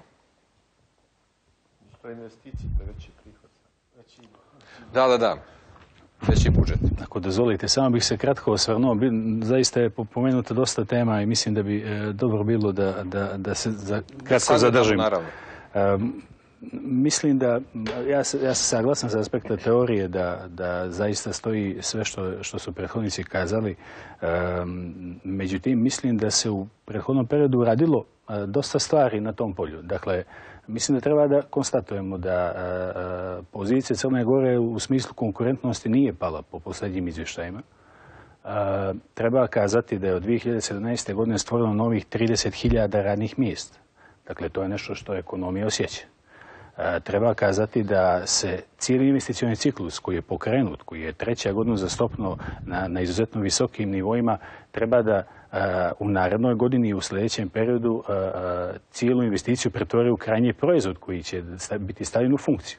Što je investicija, to je veći prihod. Da. Veći budžet. Ako dozvolite, samo bih se kratko osvrnuo. Zaista je pomenuto dosta tema i mislim da bi dobro bilo da se kratko zadržim. Naravno. Mislim da, ja sam saglasan sa aspekta teorije da zaista stoji sve što su prethodnici kazali. Međutim, mislim da se u prethodnom periodu radilo dosta stvari na tom polju. Dakle, mislim da treba da konstatujemo da pozicija Crne Gore u smislu konkurentnosti nije pala po posljednjim izvještajima. Treba kazati da je od 2017. godine stvoreno novih 30.000 radnih mjesta. Dakle, to je nešto što ekonomija osjeća. Treba kazati da se cijeli investicioni ciklus koji je pokrenut, koji je treća godina uzastopno na izuzetno visokim nivoima, treba da u narednoj godini i u sljedećem periodu cijelu investiciju pretvori u krajnji proizvod koji će biti stavljen u funkciju.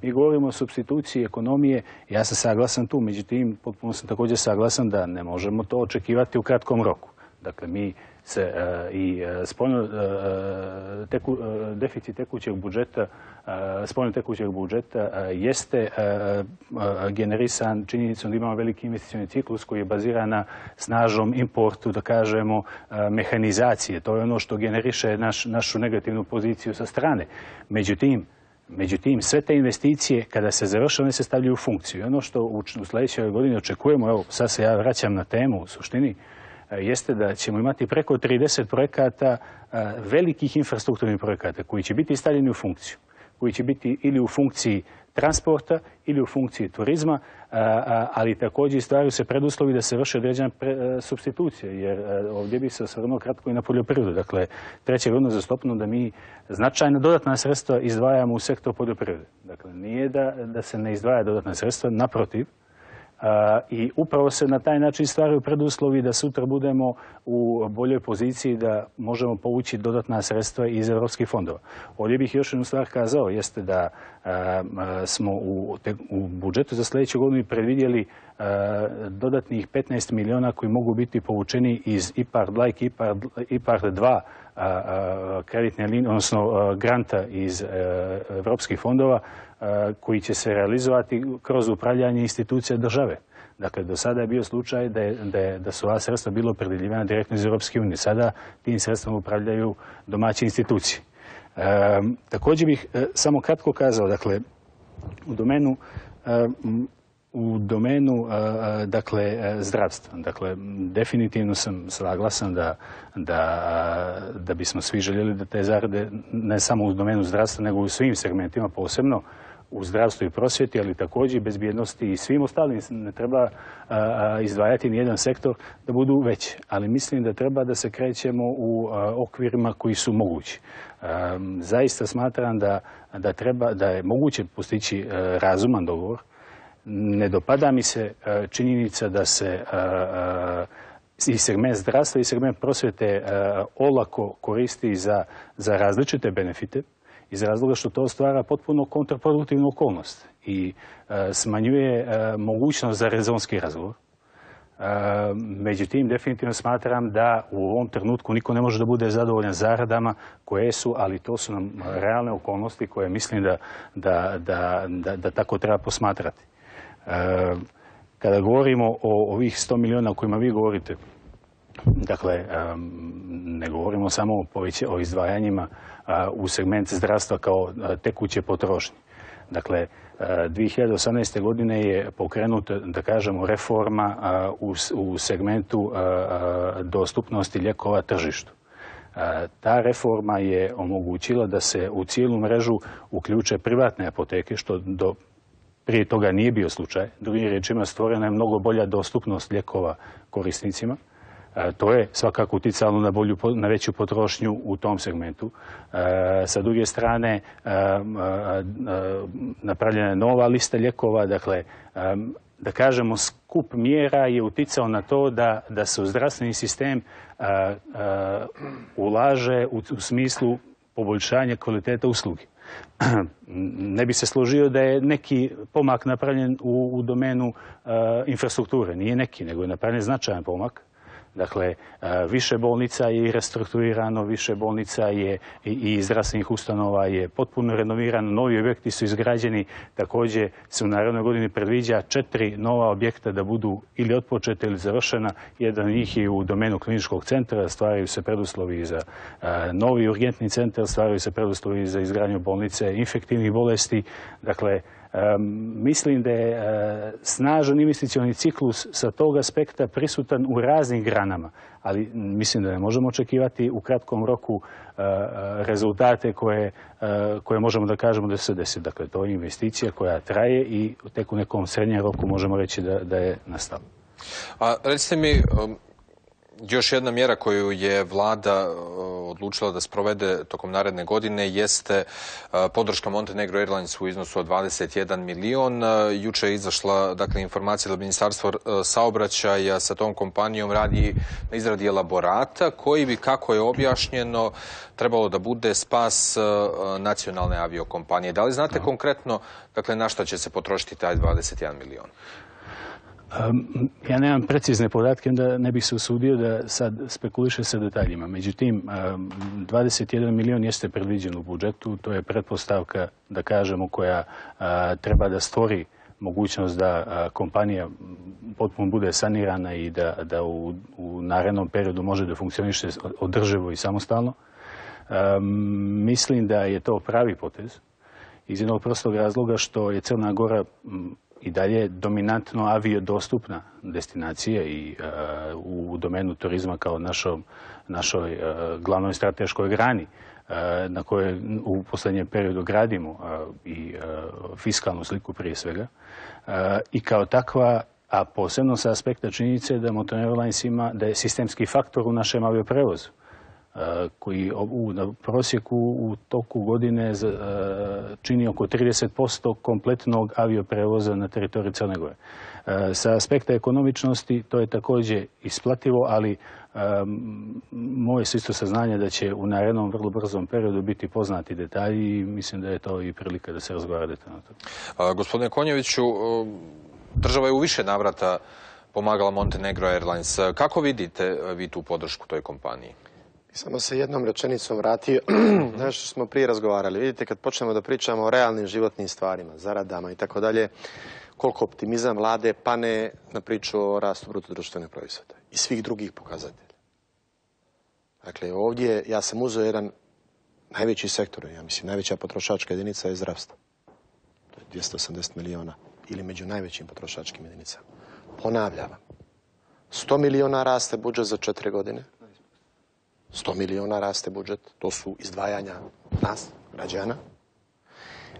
Mi govorimo o supstituciji ekonomije, ja sam saglasan tu, međutim, potpuno sam također saglasan da ne možemo to očekivati u kratkom roku. Dakle, mi se deficit tekućeg budžeta, spoljno tekućeg budžeta jeste generisan činjenicom da imamo veliki investicioni ciklus koji je baziran na snažnom importu, da kažemo, mehanizacije. To je ono što generiše našu negativnu poziciju sa strane. Međutim, sve te investicije, kada se završe, one se stavljaju u funkciju. Ono što u sljedećoj godini očekujemo, evo sad se ja vraćam na temu u suštini, jeste da ćemo imati preko 30 projekata, velikih infrastrukturnih projekata koji će biti stavljeni u funkciju, koji će biti ili u funkciji transporta ili u funkciji turizma, ali također stvaraju se preduslovi da se vrše određena supstitucija, jer ovdje bi se osvrnuo kratko i na poljoprivredu. Dakle, treća godina uzastopno da mi značajna dodatna sredstva izdvajamo u sektor poljoprivrede. Dakle, nije da se ne izdvaja dodatna sredstva, naprotiv, i upravo se na taj način stvaraju preduslovi da sutra budemo u boljoj poziciji da možemo povući dodatna sredstva iz europskih fondova. Ovdje bih još jednu stvar kazao, jeste da smo u budžetu za sljedeću godinu predvidjeli dodatnih 15 milijuna koji mogu biti povučeni iz IPARD like IPARD 2 kreditne linije, odnosno granta iz europskih fondova koji će se realizovati kroz upravljanje institucija države. Dakle, do sada je bio slučaj da su ova sredstva bilo opredjeljivana direktno iz Europske unije. Sada tim sredstvom upravljaju domaće institucije. Također bih samo kratko kazao, dakle, u domenu dakle, zdravstva. Dakle, definitivno sam saglasan da bismo svi željeli da te zarade, ne samo u domenu zdravstva, nego u svim segmentima, posebno u zdravstvu i prosvjeti, ali također i bezbjednosti i svim ostalim. Ne treba izdvajati nijedan sektor da budu veći, ali mislim da treba da se krećemo u okvirima koji su mogući. Zaista smatram da je moguće postići razuman dogovor. Ne dopada mi se činjenica da se i segment zdravstva i segment prosvjete olako koristi za različite benefite, iz razloga što to stvara potpuno kontraproduktivnu okolnost i smanjuje mogućnost za rezonski razgovor. Međutim, definitivno smatram da u ovom trenutku niko ne može da bude zadovoljan zaradama koje su, ali to su nam realne okolnosti koje mislim da tako treba posmatrati. Kada govorimo o ovih 100 milijuna o kojima vi govorite, dakle, ne govorimo samo o izdvajanjima u segment zdravstva kao tekuće potrošnje. Dakle, 2018. godine je pokrenuta, da kažemo, reforma u segmentu dostupnosti lijekova tržištu. Ta reforma je omogućila da se u cijelu mrežu uključe privatne apoteke, što prije toga nije bio slučaj. Drugim riječima, stvorena je mnogo bolja dostupnost lijekova korisnicima. To je svakako uticalo na veću potrošnju u tom segmentu. Sa druge strane, napravljena je nova lista lijekova. Dakle, da kažemo, skup mjera je uticao na to da se u zdravstveni sistem ulaže u smislu poboljšanja kvalitete usluge. Ne bi se složio da je neki pomak napravljen u domenu infrastrukture. Nije neki, nego je napravljen značajan pomak. Dakle, više bolnica je restrukturirano, više bolnica je i zdravstvenih ustanova je potpuno renovirano, novi objekti su izgrađeni, također se u narednoj godini predviđa 4 nova objekta da budu ili otpočeta ili završena. Jedan od njih je u domenu kliničkog centra, stvaraju se preduslovi za novi urgentni centar, stvaraju se preduslovi za izgradnju bolnice infektivnih bolesti. Dakle, mislim da je snažan investicioni ciklus sa tog aspekta prisutan u raznim granama, ali mislim da ne možemo očekivati u kratkom roku rezultate koje možemo da kažemo da se desi. Dakle, to je investicija koja traje i tek u nekom srednjem roku možemo reći da je nastala. A recite mi, još jedna mjera koju je vlada odlučila da sprovede tokom naredne godine jeste podrška Montenegro Airlinesu u iznosu od 21 milion. Juče je izašla, dakle, informacija da Ministarstvo saobraćaja sa tom kompanijom radi na izradi elaborata koji bi, kako je objašnjeno, trebalo da bude spas nacionalne aviokompanije. Da li znate konkretno, dakle, na šta će se potrošiti taj 21 milion? Ja nemam precizne podatke, onda ne bih se usudio da sad spekuliše sa detaljima. Međutim, 21 milion jeste predviđen u budžetu. To je pretpostavka, da kažemo, koja treba da stvori mogućnost da kompanija potpuno bude sanirana i da u narednom periodu može da funkcioniše održivo i samostalno. Mislim da je to pravi potez iz jednog prostog razloga što je Crna Gora i dalje dominantno aviodostupna destinacija i u domenu turizma kao našoj glavnoj strateškoj grani na kojoj u posljednjem periodu gradimo i fiskalnu sliku prije svega. I kao takva, a posebno sa aspekta činjenice da Moton Airlines da je sistemski faktor u našem avioprevozu, koji na prosjeku u toku godine čini oko 30% kompletnog avioprevoza na teritoriji Crne Gore. Sa aspekta ekonomičnosti to je također isplativo, ali moje su isto saznanje da će u narednom vrlo brzom periodu biti poznati detalji i mislim da je to i prilika da se razgovara detaljno. Gospodine Konjeviću, država je u više navrata pomagala Montenegro Airlines. Kako vidite vi tu podršku toj kompaniji? Samo se jednom rečenicom vratio na što smo prije razgovarali. Vidite, kad počnemo da pričamo o realnim životnim stvarima, zaradama i tako dalje, koliko optimizam vlade pane na priču o rastu bruto društvenog proizvoda i svih drugih pokazatelja. Dakle, ovdje ja sam uzeo jedan najveći sektor, ja mislim, najveća potrošačka jedinica je zdravstvo. To je 280 miliona ili među najvećim potrošačkim jedinicama. Ponavljam, 100 miliona raste budžet za 4 godine. 100 miliona raste budžet, to su izdvajanja nas, građana.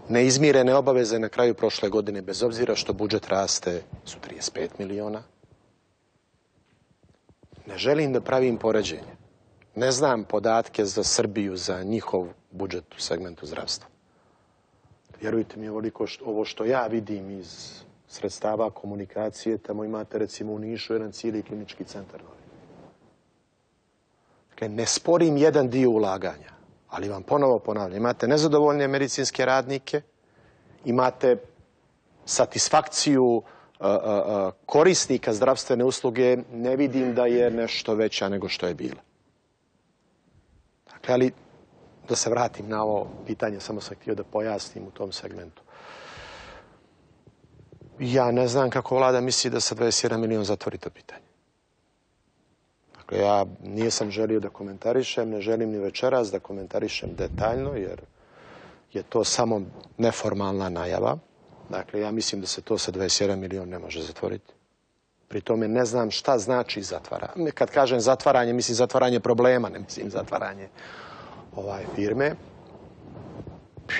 Neizmirene obaveze na kraju prošle godine, bez obzira što budžet raste, su 35 miliona. Ne želim da pravim poređenje. Ne znam podatke za Srbiju, za njihov budžet u segmentu zdravstva. Vjerujte mi, ovo što ja vidim iz sredstava komunikacije, tamo imate recimo u Nišu jedan cijeli klinički centar. Ne sporim jedan dio ulaganja, ali vam ponovo ponavljam, imate nezadovoljne medicinske radnike, imate satisfakciju korisnika zdravstvene usluge, ne vidim da je nešto veća nego što je bila. Dakle, ali da se vratim na ovo pitanje, samo sam htio da pojasnim u tom segmentu. Ja ne znam kako vlada misli da sa 21 milion zatvori to pitanje. Ja nisam želio da komentarišem, ne želim ni večeras da komentarišem detaljno, jer je to samo neformalna najava. Dakle, ja mislim da se to sa 21 milion ne može zatvoriti. Pri tome ne znam šta znači zatvaranje. Kad kažem zatvaranje, mislim zatvaranje problema, ne mislim zatvaranje firme.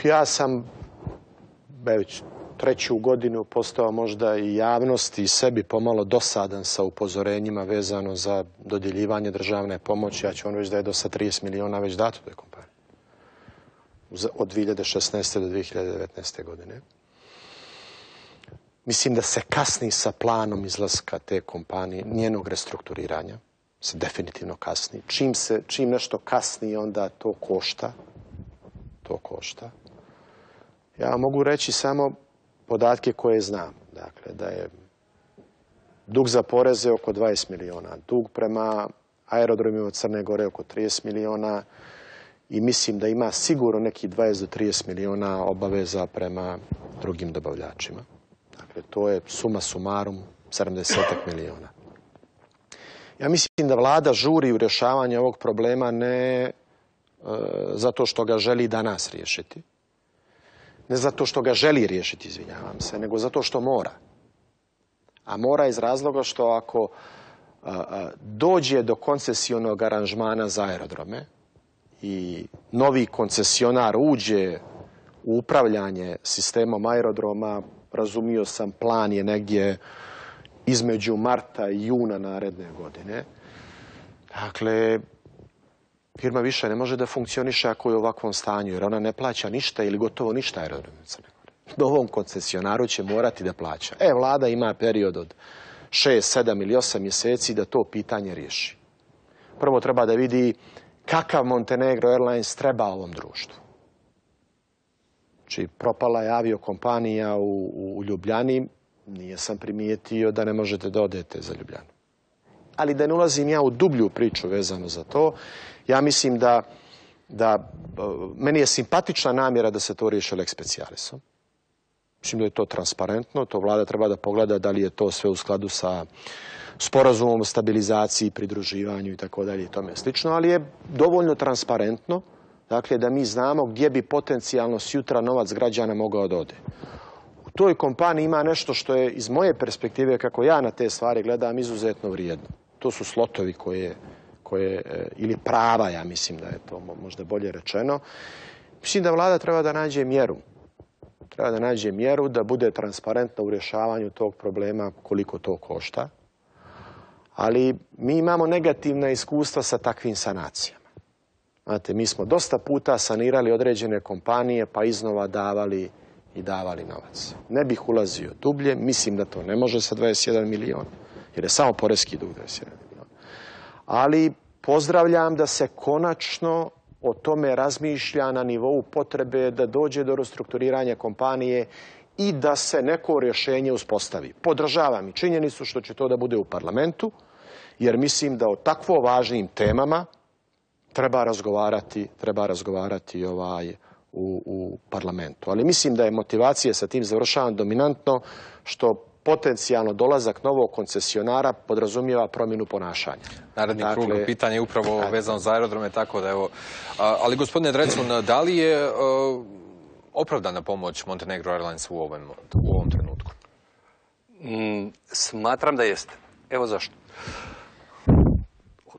Ja sam već 3. godinu postao možda i javnosti i sebi pomalo dosadan sa upozorenjima vezano za dodjeljivanje državne pomoći. Ja ću vam reći da je do sad 30 miliona već dato toj kompaniji. Od 2016. do 2019. godine. Mislim da se kasni sa planom izlaska te kompanije, njenog restrukturiranja. Se definitivno kasni. Čim nešto kasni, onda to košta. To košta. Ja mogu reći samo podatke koje znam. Dakle, da je dug za poreze oko 20 miliona, dug prema aerodromima Crne Gore oko 30 miliona i mislim da ima sigurno neki 20 do 30 miliona obaveza prema drugim dobavljačima. Dakle, to je suma sumarum 70 miliona. Ja mislim da vlada žuri u rješavanje ovog problema ne zato što ga želi danas riješiti, ne zato što ga želi riješiti, izvinjavam se, nego zato što mora. A mora iz razloga što ako dođe do koncesionog aranžmana za aerodrome i novi koncesionar uđe u upravljanje sistemom aerodroma, razumio sam, plan je negdje između marta i juna naredne godine. Dakle, firma više ne može da funkcioniše ako je u ovakvom stanju, jer ona ne plaća ništa ili gotovo ništa aerodromima Crne Gore. Novom koncesionaru će morati da plaća. Vlada ima period od 6, 7 ili 8 mjeseci da to pitanje riješi. Prvo treba da vidi kakav Montenegro Airlines treba ovom društvu. Znači, propala je aviokompanija u Ljubljani, nije sam primijetio da ne možete da odete za Ljubljanu. Ali da ne ulazim ja u dublju priču vezano za to, ja mislim da meni je simpatična namjera da se to riješi lex specialisom. Mislim da je to transparentno, to vlada treba da pogleda da li je to sve u skladu sa sporazumom o stabilizaciji, pridruživanju i tako dalje i tome slično, ali je dovoljno transparentno, dakle, da mi znamo gdje bi potencijalno sutra novac građana mogao da ode. U toj kompaniji ima nešto što je iz moje perspektive, kako ja na te stvari gledam, izuzetno vrijedno. To su slotovi ili prava, ja mislim da je to možda bolje rečeno. Mislim da vlada treba da nađe mjeru. Treba da nađe mjeru da bude transparentna u rješavanju tog problema koliko to košta. Ali mi imamo negativna iskustva sa takvim sanacijama. Znate, mi smo dosta puta sanirali određene kompanije pa iznova davali novac. Ne bih ulazio dublje, mislim da to ne može sa 21 milion, jer je samo poreski dug 21 milion. Ali pozdravljam da se konačno o tome razmišlja na nivou potrebe da dođe do restrukturiranja kompanije i da se neko rješenje uspostavi. Podržavam i činjenicu što će to da bude u parlamentu, jer mislim da o takvo važnim temama treba razgovarati u parlamentu. Ali mislim da je motivacija sa tim završavam dominantno, što potencijalno dolazak novog koncesionara podrazumijeva promjenu ponašanja. Naredni krug pitanja je upravo vezano za aerodrome, tako da evo. Ali gospodine Drecun, da li je opravdana pomoć Montenegro Airlines u ovom trenutku? Smatram da jeste. Evo zašto.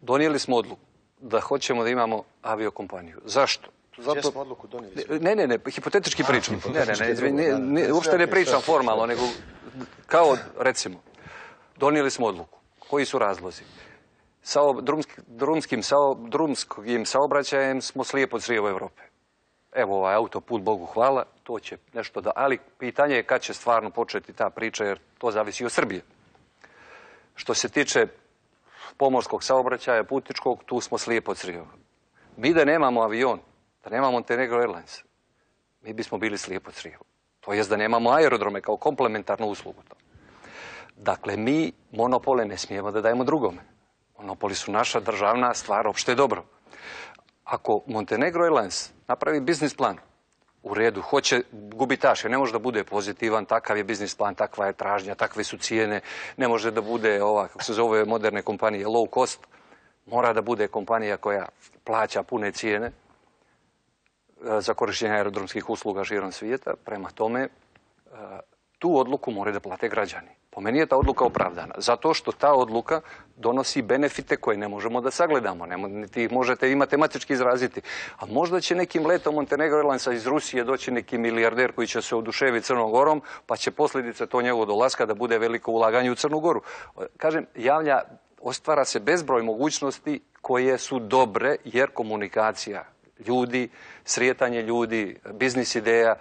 Donijeli smo odluku da hoćemo da imamo aviokompaniju. Zašto? Gdje smo odluku donijeli? Ne, hipotetički pričam. Uopšte ne pričam formalno, nego kao, recimo, donijeli smo odluku. Koji su razlozi? Drumskim saobraćajem smo slijepo crijevo Evrope. Evo ovaj autoput, Bogu hvala, to će nešto da... Ali pitanje je kad će stvarno početi ta priča, jer to zavisi od Srbije. Što se tiče pomorskog saobraćaja, putničkog, tu smo slijepo crijevo. Mi da nemamo avion, da nemamo Montenegro Airlines, mi bismo bili slijepo crijevo. To jest da nemamo aerodrome kao komplementarnu uslugu. Dakle, mi monopole ne smijemo da dajemo drugome. Monopoli su naša državna stvar, opšte dobro. Ako Montenegro Airlines napravi biznis plan, u redu, hoće gubitaš, jer ne može da bude pozitivan, takav je biznis plan, takva je tražnja, takve su cijene, ne može da bude ova, kako se zove, moderne kompanije, low cost, mora da bude kompanija koja plaća pune cijene za korištenje aerodromskih usluga širom svijeta. Prema tome, tu odluku moraju da plate građani. Po meni je ta odluka opravdana, zato što ta odluka donosi benefite koje ne možemo da sagledamo, niti ih možete i matematički izraziti. A možda će nekim letom Montenegro Airlinesa iz Rusije doći neki milijarder koji će se oduševiti Crnom Gorom, pa će posljedice to njegovog dolaska da bude veliko ulaganje u Crnu Goru. Kažem, ostvara se bezbroj mogućnosti koje su dobre, jer komunikacija ljudi, srijetanje ljudi, biznis ideja,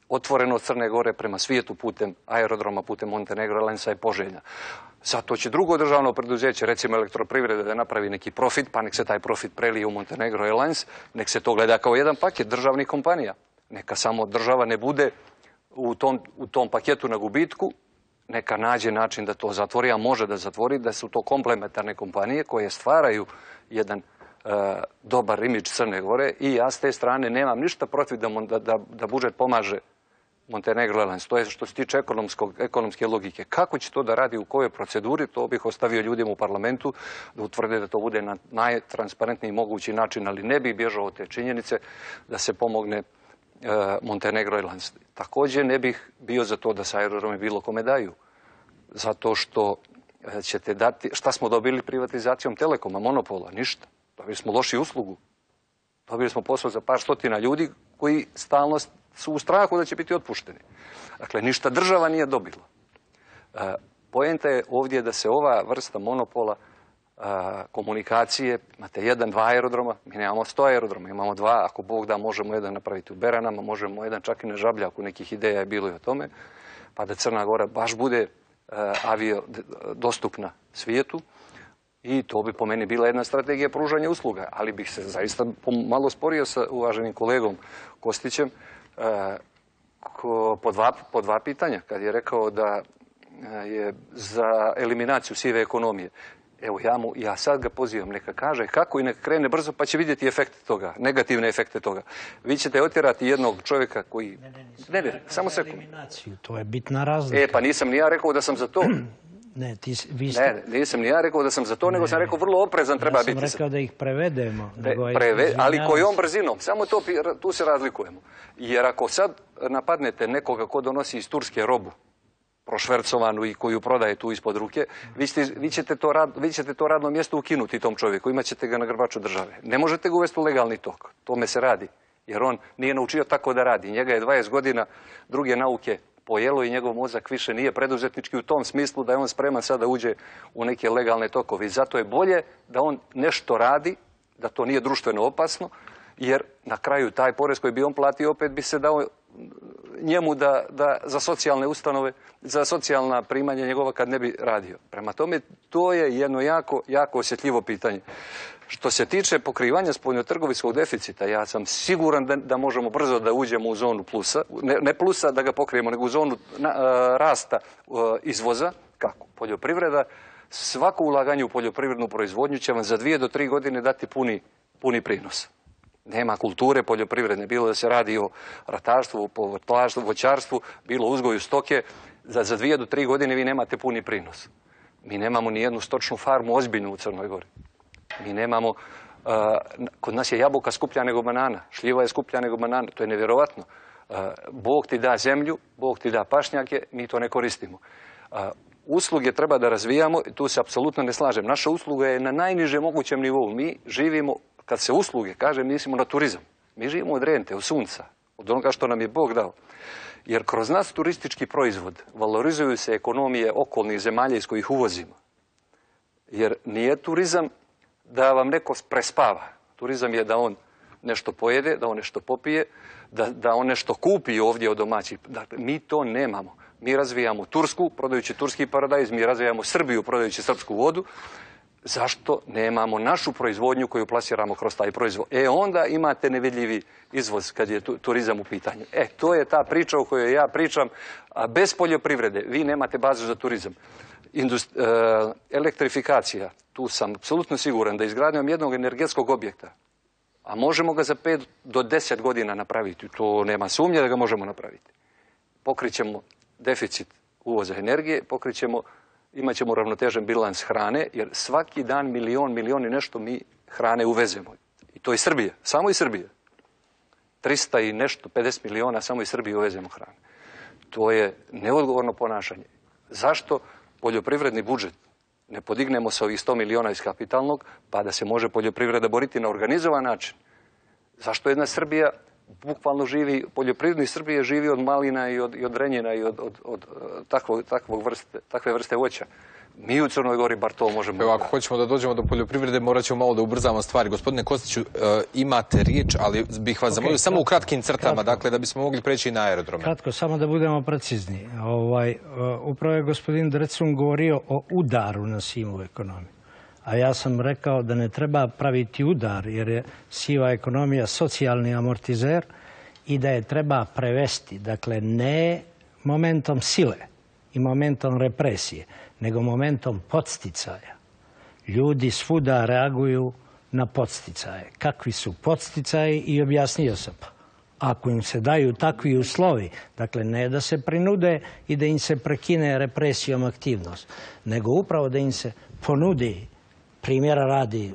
otvorenost Crne Gore prema svijetu putem aerodroma, putem Montenegro Airlinesa je poželjna. Zato će drugo državno preduzeće, recimo Elektroprivreda, da napravi neki profit, pa nek se taj profit prelije u Montenegro Airlines, nek se to gleda kao jedan paket državnih kompanija. Neka samo država ne bude u tom paketu na gubitku, neka nađe način da to zatvori, a može da zatvori, da su to komplementarne kompanije koje stvaraju jedan dobar imidž Crne Gore, i ja s te strane nemam ništa protiv da budžet pomaže Montenegro Airlines. To je što se tiče ekonomske logike. Kako će to da radi, u kojoj proceduri, to bih ostavio ljudima u parlamentu da utvrde da to bude na najtransparentniji mogući način, ali ne bih bježao od te činjenice da se pomogne Montenegro Airlines. Također ne bih bio za to da se aerodromi bilo kome daju, zato što ćete dati... Šta smo dobili privatizacijom Telekoma, monopola? Ništa. Dobili smo lošiju uslugu. Dobili smo posao za par stotina ljudi koji stalno su u strahu da će biti otpušteni. Dakle, ništa država nije dobila. Poenta je ovdje da se ova vrsta monopola komunikacije, imate 1-2 aerodroma, mi nemamo 100 aerodroma, imamo 2, ako Bog da možemo jedan napraviti u Beranama, možemo jedan čak i na Žabljaku, nekih ideja je bilo i o tome, pa da Crna Gora baš bude avio dostupna svijetu. I to bi po meni bila jedna strategija pružanja usluga, ali bih se zaista malo sporio sa uvaženim kolegom Kostićem po dva pitanja, kad je rekao da je za eliminaciju sive ekonomije. Evo, ja sad ga pozivam, neka kaže kako i neka krene brzo, pa će vidjeti efekte toga, negativne efekte toga. Vi ćete otjerati jednog čovjeka koji... Ne, samo sekund. To je bitna razlika. Pa nisam ni ja rekao da sam za to. Ne, nisam ni ja rekao da sam za to, nego sam rekao vrlo oprezan treba biti. Ja sam rekao da ih prevedemo. Ali kojom brzinom? Samo tu se razlikujemo. Jer ako sad napadnete nekoga ko donosi iz Turske robu, prošvercovanu i koju prodaje tu ispod ruke, vi ćete to radno mjesto ukinuti tom čovjeku, imat ćete ga na grbaču države. Ne možete ga uvesti u legalni tok, tome se radi, jer on nije naučio tako da radi. Njega je 20 godina druge nauke pojelo i njegov mozak više nije preduzetnički u tom smislu da je on spreman sada uđe u neke legalne tokove. I zato je bolje da on nešto radi, da to nije društveno opasno, jer na kraju taj porez koji bi on platio opet bi se dao njemu da za socijalne ustanove, za socijalna primanja njegova kad ne bi radio. Prema tome, to je jedno jako osjetljivo pitanje. Što se tiče pokrivanja spoljnotrgovinskog deficita, ja sam siguran da možemo brzo da uđemo u zonu plusa, ne plusa da ga pokrijemo, nego u zonu rasta izvoza. Kako? Poljoprivreda, svako ulaganje u poljoprivrednu proizvodnju će vam za 2 do 3 godine dati puni prinos. Nema kulture poljoprivredne, bilo da se radi o ratarstvu, povrtlarstvu, voćarstvu, bilo uzgoju stoke, za 2 do 3 godine vi nemate puni prinos. Mi nemamo ni jednu stočnu farmu ozbiljnu u Crnoj Gori. Mi nemamo, kod nas je jabuka skuplja nego banana, šljiva je skuplja nego banana, to je nevjerovatno. Bog ti da zemlju, Bog ti da pašnjake, mi to ne koristimo. Usluge treba da razvijamo, tu se apsolutno ne slažem. Naša usluga je na najnižem mogućem nivou. Mi živimo, kad se usluge kaže, mislimo na turizam. Mi živimo od rente, od sunca, od onoga što nam je Bog dao. Jer kroz nas turistički proizvod valorizuju se ekonomije okolnih zemalja iz kojih uvozimo. Jer nije turizam da vam neko prespava. Turizam je da on nešto pojede, da on nešto popije, da on nešto kupi ovdje od domaćih. Dakle, mi to nemamo. Mi razvijamo Tursku, prodajući turski paradajz, mi razvijamo Srbiju, prodajući srpsku vodu. Zašto nemamo našu proizvodnju koju plasiramo kroz taj proizvod? Onda imate nevidljivi izvoz kad je turizam u pitanju. To je ta priča o kojoj ja pričam. A bez poljoprivrede vi nemate bazu za turizam. Elektrifikacija, tu sam apsolutno siguran da izgradnjom jednog energetskog objekta, a možemo ga za 5 do 10 godina napraviti, to nema sumnje da ga možemo napraviti. Pokrićemo deficit uvoza energije, imat ćemo ravnotežen bilans hrane, jer svaki dan milion i nešto mi hrane uvezemo. I to iz Srbije, samo iz Srbije. 300 i nešto, 50 miliona samo iz Srbije uvezemo hrane. To je neodgovorno ponašanje. Zašto poljoprivredni budžet ne podignemo sa ovih 100 miliona iz kapitalnog, pa da se može poljoprivreda boriti na organizovan način? Zašto jedna Srbija bukvalno živi, poljoprivredni Srbije živi od malina i od renjina i od takve vrste voća. Mi u Crnoj Gori bar to možemo... Evo, ako hoćemo da dođemo do poljoprivrede, morat ćemo malo da ubrzamo stvari. Gospodine Kostiću, imate riječ, ali bih vas zamolio samo u kratkim crtama, dakle, da bismo mogli preći i na aerodrome. Kratko, samo da budemo precizni. Upravo je gospodin Drecun govorio o udaru na sivu ekonomiju. A ja sam rekao da ne treba praviti udar, jer je siva ekonomija socijalni amortizer i da je treba prevesti. Dakle, ne momentom sile i momentom represije, nego momentom podsticaja. Ljudi svuda reaguju na podsticaje. Kakvi su podsticaji i objasnio sam. Ako im se daju takvi uslovi, dakle ne da se prinude i da im se prekine represijom aktivnost, nego upravo da im se ponudi, primjera radi,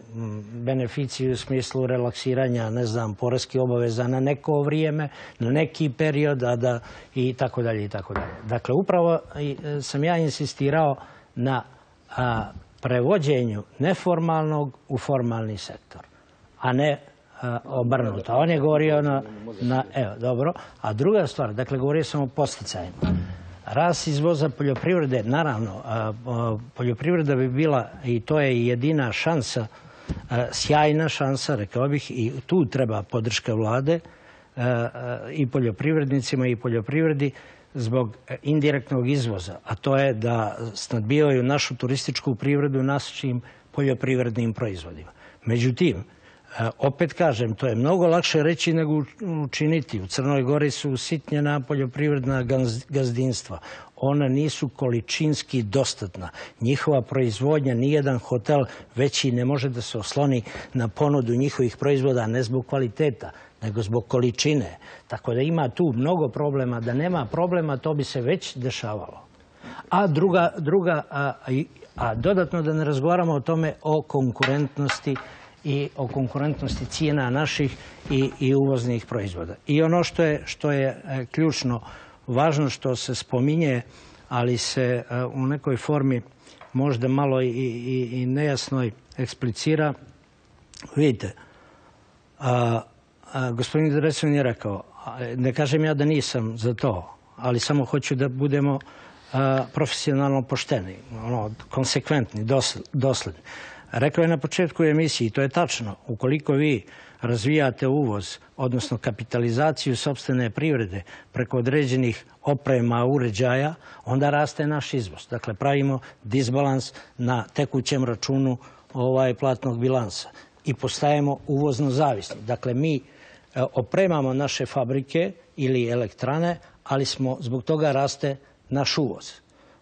beneficiju u smislu relaksiranja, ne znam, poreskih obaveza na neko vrijeme, na neki period, i tako dalje, i tako dalje. Dakle, upravo sam ja insistirao na prevođenju neformalnog u formalni sektor, a ne obrnuto. On je govorio evo, dobro. A druga stvar, dakle, govorio sam o posticajima. Rast izvoza poljoprivrede, naravno, poljoprivreda bi bila, i to je jedina šansa, sjajna šansa, rekao bih, i tu treba podrška vlade i poljoprivrednicima i poljoprivredi zbog indirektnog izvoza, a to je da snadbijaju našu turističku privredu našim poljoprivrednim proizvodima. Međutim, Opet kažem, to je mnogo lakše reći nego učiniti. U Crnoj Gori su usitnjena poljoprivredna gazdinstva. Ona nisu količinski dostatna. Njihova proizvodnja, nijedan hotel veći ne može da se osloni na ponudu njihovih proizvoda, ne zbog kvaliteta, nego zbog količine. Tako da ima tu mnogo problema. Da nema problema, to bi se već dešavalo. A dodatno da ne razgovaramo o tome o konkurentnosti i o konkurentnosti cijena naših i uvoznih proizvoda. I ono što je ključno, važno što se spominje, ali se u nekoj formi možda malo i nejasnoj eksplicira. Vidite, gospodin Drecun je rekao, ne kažem ja da nisam za to, ali samo hoću da budemo profesionalno pošteni, konsekventni, dosledni. Rekao je na početku emisiji, to je tačno, ukoliko vi razvijate uvoz, odnosno kapitalizaciju sopstvene privrede preko određenih oprema, uređaja, onda raste naš izvoz. Dakle, pravimo disbalans na tekućem računu platnog bilansa i postajemo uvozno zavisni. Dakle, mi opremamo naše fabrike ili elektrane, ali zbog toga raste naš uvoz.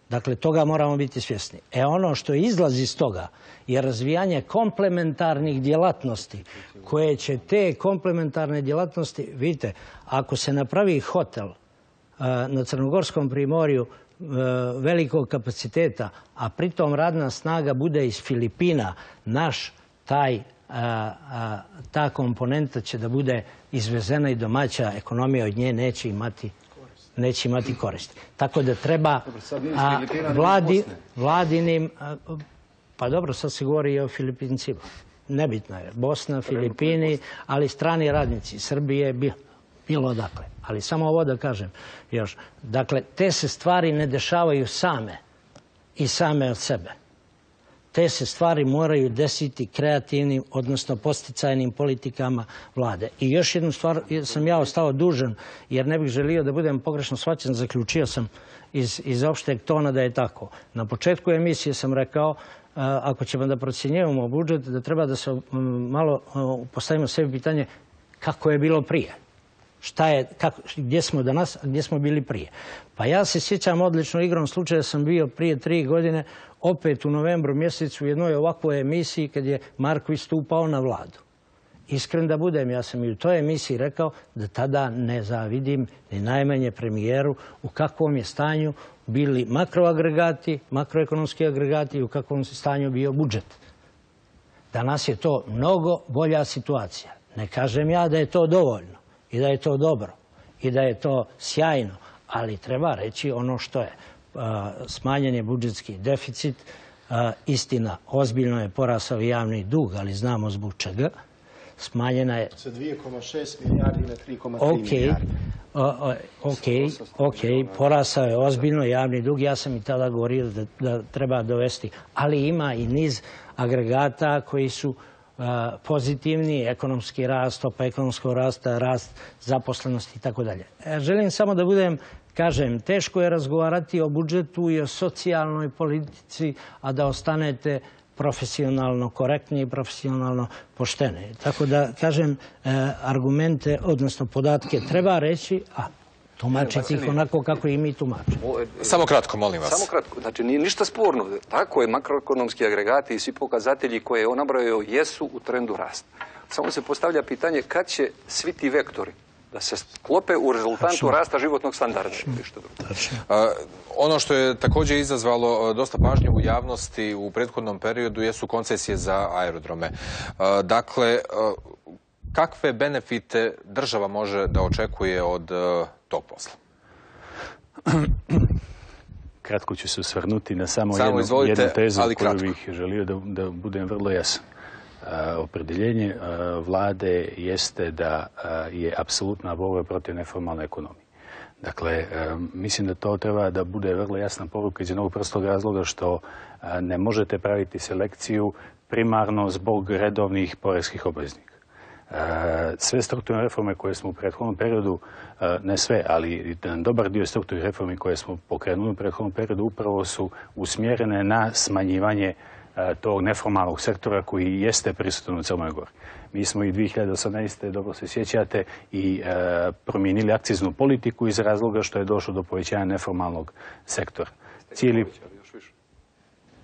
Dakle, toga moramo biti svjesni. Ono što izlazi iz toga je razvijanje komplementarnih djelatnosti, koje će te komplementarne djelatnosti, vidite, ako se napravi hotel na Crnogorskom primorju velikog kapaciteta, a pritom radna snaga bude iz Filipina, ta komponenta će da bude izvezena i domaća ekonomija od nje neće imati koristi. Tako da treba vladinim... Pa dobro, sad se govori i o Filipincima. Nebitno je. Bosna, Filipini, ali strani radnici. Srbije, bilo odakle. Ali samo ovo da kažem još. Dakle, te se stvari ne dešavaju same i same od sebe. Te se stvari moraju desiti kreativnim, odnosno posticajnim politikama vlade. I još jednu stvar sam ja ostao dužan, jer ne bih želio da budem pogrešno shvaćen, zaključio sam iz opšteg tona da je tako. Na početku emisije sam rekao, ako ćemo da procjenjujemo budžet, da treba da se malo postavimo sebi pitanje kako je bilo prije. Gdje smo danas, a gdje smo bili prije. Pa ja se sjećam odlično, igrom slučaja sam bio prije 3 godine opet u novembru mjesecu u jednoj ovakvoj emisiji kad je Marković stupao na vladu. Iskren da budem, ja sam i u toj emisiji rekao da tada ne zavidim ni najmanje premijeru u kakvom je stanju bili makroagregati, makroekonomski agregati i u kakvom stanju bio budžet. Danas je to mnogo bolja situacija. Ne kažem ja da je to dovoljno i da je to dobro i da je to sjajno, ali treba reći ono što je. Smanjen je budžetski deficit, istina, ozbiljno je porasao javni dug, ali znamo zbog čega. Smanjena je... Sa 2,6 milijardi na 3,3 milijardi. Ok, porasao je ozbiljno javni dug. Ja sam i tada govorio da treba dovesti. Ali ima i niz agregata koji su pozitivni, ekonomski rast, stopa ekonomskog rasta, rast zaposlenosti i tako dalje. Želim samo da budem, kažem, teško je razgovarati o budžetu i o socijalnoj politici, a da ostanete profesionalno korektni i profesionalno pošteni. Tako da, kažem, argumente, odnosno podatke treba reći, a tumačiti ih onako kako i mi tumačimo. Samo kratko, molim vas. Samo kratko. Znači, nije ništa sporno. Tako je, makroekonomski agregati i svi pokazatelji koje je on nabrojao jesu u trendu rasta. Samo se postavlja pitanje kad će svi ti vektori da se sklope u rezultantu rasta životnog standarda. Ono što je također izazvalo dosta pažnje u javnosti u prethodnom periodu jesu koncesije za aerodrome. Dakle, kakve benefite država može da očekuje od tog posla? Kratko ću se osvrnuti na samo jednu tezu koju bih želio da budem vrlo jasan. Opredjeljenje vlade jeste da je apsolutna borba protiv neformalne ekonomije. Dakle, mislim da to treba da bude vrlo jasna poruka iz jednog prostog razloga što ne možete praviti selekciju primarno zbog redovnih poreskih obveznika. Sve strukturne reforme koje smo u prethodnom periodu, ne sve, ali dobar dio strukturnih reformi koje smo pokrenuli u prethodnom periodu upravo su usmjerene na smanjivanje tog neformalnog sektora koji jeste prisutan u Crnoj Gori. Mi smo i 2018. dobro se sjećate i promijenili akciznu politiku iz razloga što je došlo do povećanja neformalnog sektora. Cijeli...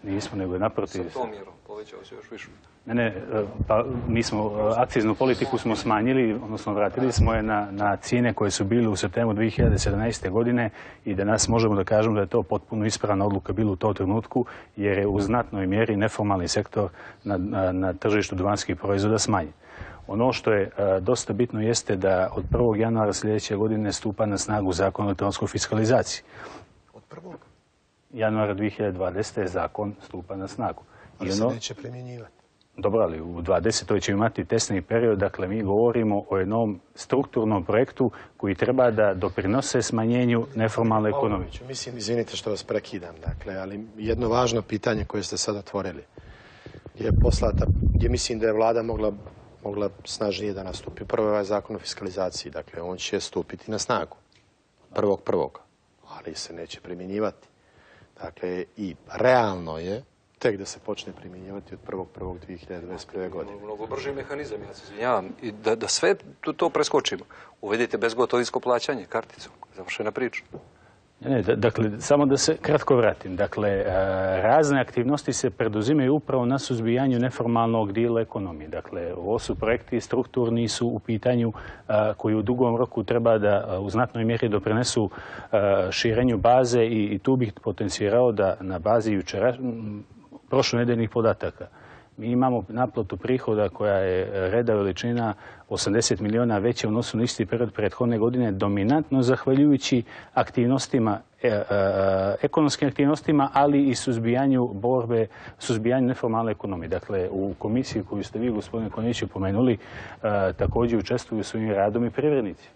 Nismo, nego je naprotiv. Sa tom mjerom povećao se još više. Ne, pa mi smo akciznu politiku smo smanjili, odnosno vratili smo je na cijene koje su bile u septembru 2017. godine i danas možemo da kažemo da je to potpuno ispravna odluka bila u tom trenutku, jer je u znatnoj mjeri neformalni sektor na tržištu duvanskih proizvoda smanjen. Ono što je dosta bitno jeste da od 1. januara sljedeće godine stupa na snagu Zakon o elektronskoj fiskalizaciji. Od 1. januara 2020. zakon stupa na snagu. Ali se neće primjenjivati. Dobro, ali u 2020. će imati testni period, dakle mi govorimo o jednom strukturnom projektu koji treba da doprinose smanjenju neformalne ekonomije. Mislim, izvinite što vas prekidam, dakle, ali jedno važno pitanje koje ste sad otvorili je poslata, gdje mislim da je vlada mogla snažnije da nastupi. Prvo je ovaj zakon o fiskalizaciji, dakle, on će stupiti na snagu 1.1. ali se neće primjenjivati. Dakle, i realno je tek da se počne primjenjivati od 1.1.2021. godine. Mnogo brži mehanizam, ja se izvinjavam. I da sve to preskočimo. Uvedite bezgotovinsko plaćanje karticom. Završena priča. Ne, dakle, samo da se kratko vratim. Dakle, razne aktivnosti se preduzimaju upravo na suzbijanju neformalnog dijela ekonomije. Dakle, ovo su projekti strukturni su u pitanju koji u dugom roku treba da u znatnoj mjeri doprinesu širenju baze i tu bih potencirao da na bazi prošlonedeljnih podataka mi imamo naplatu prihoda koja je reda veličina 80 miliona veća u odnosu na isti period prethodne godine, dominantno zahvaljujući aktivnostima, ekonomskim aktivnostima, ali i suzbijanju neformalne ekonomije. Dakle, u komisiji koju ste vi, gospodine Konjiću, pomenuli, također učestvuju svojim radom i privrednici.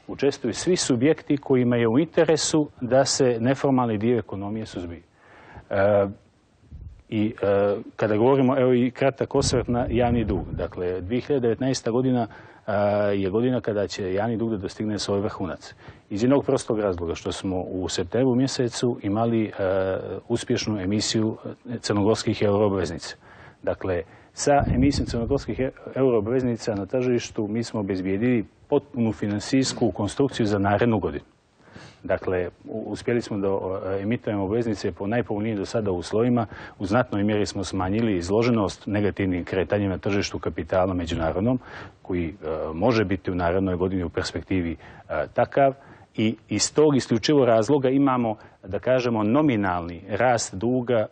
Učestvuju svi subjekti kojima je u interesu da se neformalni dio ekonomije suzbije. I kada govorimo, evo i kratak osvrt na javni dug. Dakle, 2019. godina je godina kada će javni dug da dostigne svoj vrhunac. Iz jednog prostog razloga što smo u septembru mjesecu imali uspješnu emisiju crnogorskih euroobveznica. Dakle, sa emisijom crnogorskih euroobveznica na tržištu mi smo obezbijedili potpunu finansijsku konstrukciju za narednu godinu. Dakle, uspjeli smo da emitujemo obveznice po najpovoljnijim do sada uslovima. U znatnoj mjeri smo smanjili izloženost negativnim kretanjima na tržištu kapitala međunarodnom, koji može biti u narednoj godini u perspektivi takav. I iz tog isključivo razloga imamo, da kažemo, nominalni rast duga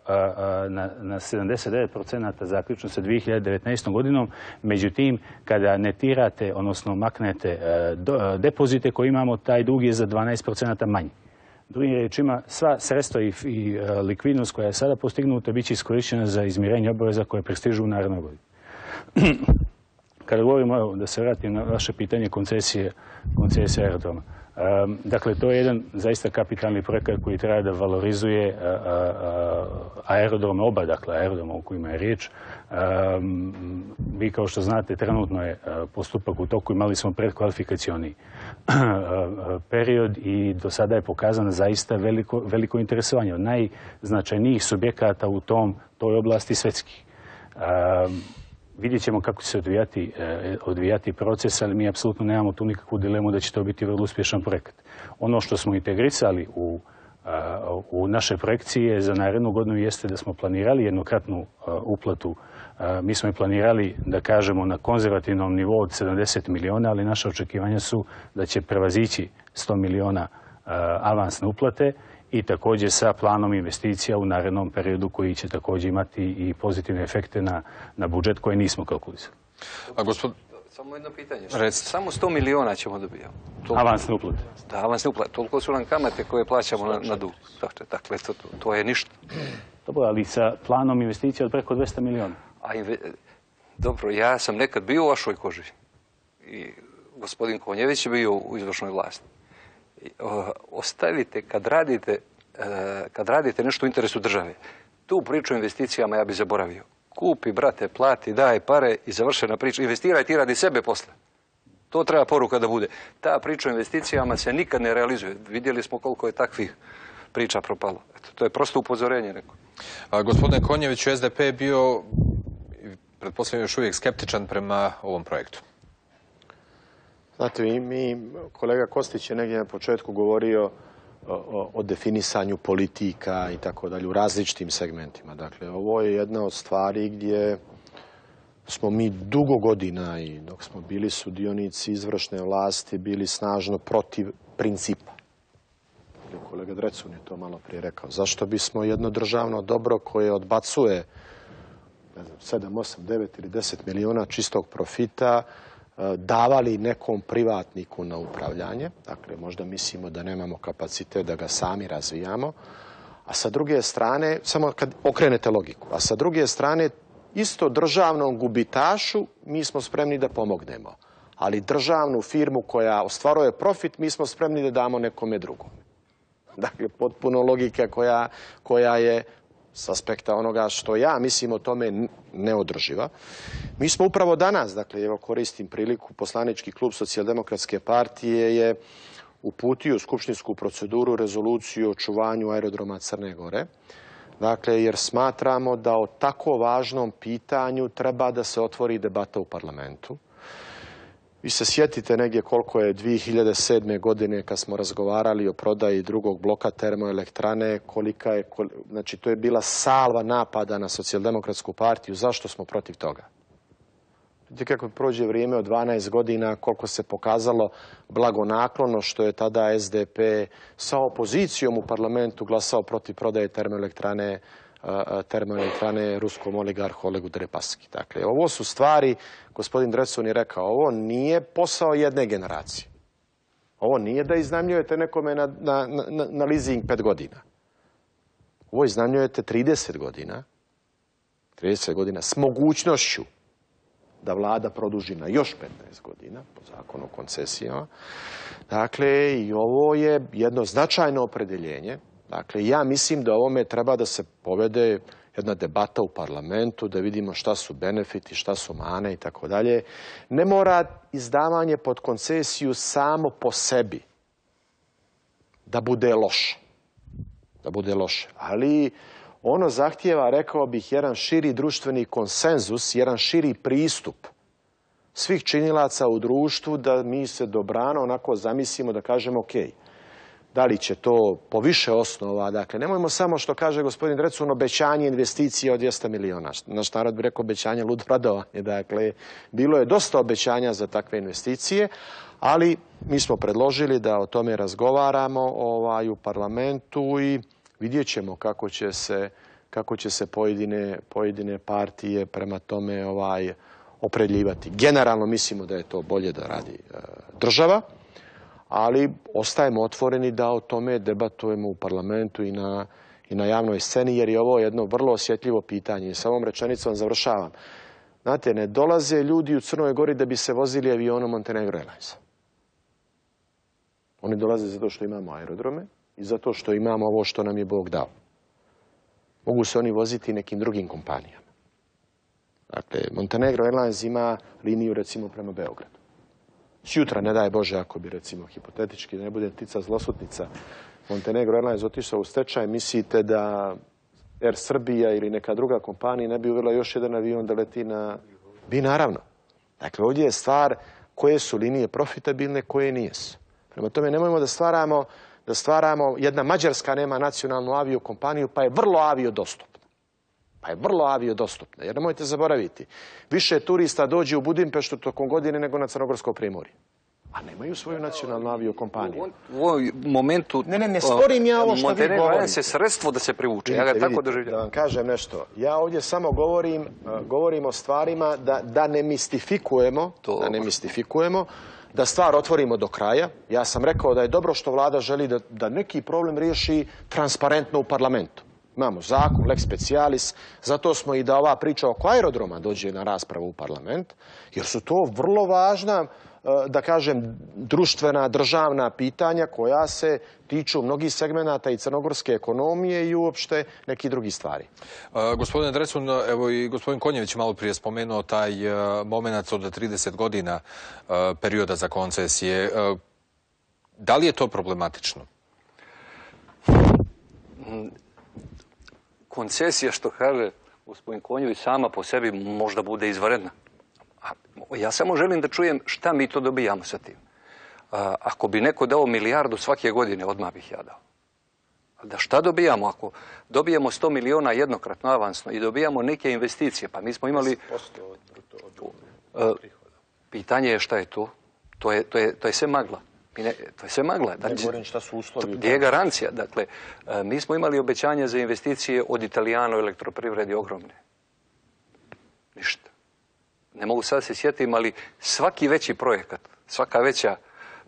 na 79% zaključno sa 2019. godinom. Međutim, kada netirate, odnosno maknete depozite koje imamo, taj dug je za 12% manji. Drugim riječima, sva sredstva i likvidnost koja je sada postignuta bit će iskorištena za izmirenje obaveza koje prestižu u narednoj godini. Kada govorimo, evo, da se vratim na vaše pitanje koncesije aerodroma. Dakle, to je jedan zaista kapitalni projekat koji treba da valorizuje aerodrome, oba, dakle, aerodroma o kojima je riječ. Vi, kao što znate, trenutno je postupak u toku, imali smo predkvalifikacioni period i do sada je pokazano zaista veliko interesovanje od najznačajnijih subjekata u toj oblasti svetskih. Vidjet ćemo kako će se odvijati proces, ali mi apsolutno nemamo tu nikakvu dilemu da će to biti vrlo uspješan projekat. Ono što smo integrisali u naše projekcije za narednu godinu jeste da smo planirali jednokratnu uplatu. Mi smo i planirali, da kažemo, na konzervativnom nivou od 70 miliona, ali naše očekivanja su da će prevazići 100 miliona avansne uplate i također sa planom investicija u narednom periodu koji će također imati i pozitivne efekte na budžet koje nismo kalkulisali. Samo jedno pitanje. Samo 100 miliona ćemo dobijati. Avansne uplate. Da, avansne uplate. Toliko su nam kamate koje plaćamo na dug. Dakle, to je ništa. Dobro, ali sa planom investicija od preko 200 miliona. Dobro, ja sam nekad bio u vašoj koži. I gospodin Konjević je bio u izvršnoj vlasti. Ostavite, kad radite nešto u interesu države, tu priču o investicijama ja bi zaboravio. Kupi, brate, plati, daj pare i završena priča. Investiraj, ti radi sebe posle. To treba poruka da bude. Ta priča o investicijama se nikad ne realizuje. Vidjeli smo koliko je takvih priča propalo. Eto, to je prosto upozorenje neko. Gospodine Konjeviću, SDP je bio, pretpostavljam, još uvijek skeptičan prema ovom projektu. Znate, kolega Kostić je negdje na početku govorio o definisanju politika i tako dalje u različitim segmentima. Dakle, ovo je jedna od stvari gdje smo mi dugo godina i dok smo bili sudionici izvršne vlasti bili snažno protiv principa. Kolega Drecun je to malo prije rekao. Zašto bismo jedno državno dobro koje odbacuje 7, 8, 9 ili 10 miliona čistog profita davali nekom privatniku na upravljanje? Dakle, možda mislimo da nemamo kapacitet da ga sami razvijamo. A sa druge strane, samo kad okrenete logiku, a sa druge strane isto državnom gubitašu mi smo spremni da pomognemo. Ali državnu firmu koja ostvaruje profit mi smo spremni da damo nekome drugom. Dakle, potpuno logika koja je s aspekta onoga što ja mislim o tome neodrživa. Mi smo upravo danas, dakle, evo koristim priliku, poslanički klub Socijaldemokratske partije je uputio u skupštinsku proceduru rezoluciju o očuvanju aerodroma Crne Gore. Dakle, jer smatramo da o tako važnom pitanju treba da se otvori debata u parlamentu. Vi se sjetite negdje koliko je 2007. godine kad smo razgovarali o prodaji drugog bloka termoelektrane, znači to je bila salva napada na Socijaldemokratsku partiju. Zašto smo protiv toga? Vidite kako prođe vrijeme od 12 godina, koliko se pokazalo blagonaklono što je tada SDP sa opozicijom u parlamentu glasao protiv prodaje termoelektrane ruskom oligarhu Olegu Deripaski. Dakle, ovo su stvari, gospodin Drecun je rekao, ovo nije posao jedne generacije. Ovo nije da iznajmljujete nekome na leasing 5 godina. Ovo iznajmljujete 30 godina. 30 godina s mogućnošću da vlada produži na još 15 godina po zakonu o koncesijama. Dakle, i ovo je jedno značajno opredjeljenje. Dakle, ja mislim da ovome treba da se povede jedna debata u parlamentu, da vidimo šta su benefiti, šta su mane i tako dalje. Ne mora izdavanje pod koncesiju samo po sebi da bude loše. Da bude loše. Ali ono zahtijeva, rekao bih, jedan širi društveni konsenzus, jedan širi pristup svih činilaca u društvu da mi se dobrano onako zamislimo da kažemo ok. Da li će to po više osnova, dakle, nemojmo samo što kaže gospodin Drecun, obećanje investicije od 200 miliona. Naš narod bi rekao obećanje ludo radovanje. Dakle, bilo je dosta obećanja za takve investicije, ali mi smo predložili da o tome razgovaramo u parlamentu i vidjet ćemo kako će se pojedine partije prema tome opredjeljivati. Generalno mislimo da je to bolje da radi država, ali ostajemo otvoreni da o tome debatujemo u parlamentu i na javnoj sceni, jer je ovo jedno vrlo osjetljivo pitanje. I sa ovom rečenicom završavam. Znate, ne dolaze ljudi u Crnoj Gori da bi se vozili avionom Montenegro Airlinesa. Oni dolaze zato što imamo aerodrome i zato što imamo ovo što nam je Bog dao. Mogu se oni voziti nekim drugim kompanijama. Dakle, Montenegro Airlines ima liniju recimo prema Beogradu. Sjutra, ne daj Bože, ako bi recimo hipotetički, ne bude tica zlosutnica, Montenegro Airlines otišao u stečaj, mislite da Air Srbija ili neka druga kompanija ne bi uvela još jedan avion da leti na... Bi, naravno. Dakle, ovdje je stvar koje su linije profitabilne, koje nijesu. Prema tome, nemojmo da stvaramo, jedna Mađarska nema nacionalnu aviokompaniju, pa je vrlo aviodostupna. Jer nemojte zaboraviti, više turista dođe u Budimpeštu tokom godine nego na Crnogorsko primorje. A nemaju svoju nacionalnu aviokompaniju. U ovom momentu... Ne sporim ja ovo što vi govorite. Montenegro je sredstvo da se privuče. Ja ga tako doživljavam. Da vam kažem nešto. Ja ovdje samo govorim o stvarima da ne mistifikujemo, da stvar otvorimo do kraja. Ja sam rekao da je dobro što vlada želi da neki problem riješi transparentno u parlamentu. Imamo zakon, lex specialis, zato smo i da ova priča oko aerodroma dođe na raspravu u parlament, jer su to vrlo važna, da kažem, društvena, državna pitanja koja se tiču mnogih segmenata i crnogorske ekonomije i uopšte nekih drugih stvari. Gospodine Drecun, evo i gospodin Konjević malo prije spomenuo taj moment od 30 godina perioda za koncesije. Da li je to problematično? koncesija, što kaže gospodin Konjović, sama po sebi možda bude izvanredna. Ja samo želim da čujem šta mi to dobijamo sa tim. Ako bi neko dao milijardu svake godine, odmah bih ja dao. Da šta dobijamo? Ako dobijamo 100 miliona jednokratno avansno i dobijamo neke investicije, pa mi smo imali... Pitanje je šta je to? To je sve magla. To je sve magla. Ne govorim šta su uslovi. Gdje je garancija? Dakle, mi smo imali obećanja za investicije od Italijano elektroprivredi ogromne. Ništa. Ne mogu sad se sjetim, ali svaki veći projekat, svaka veća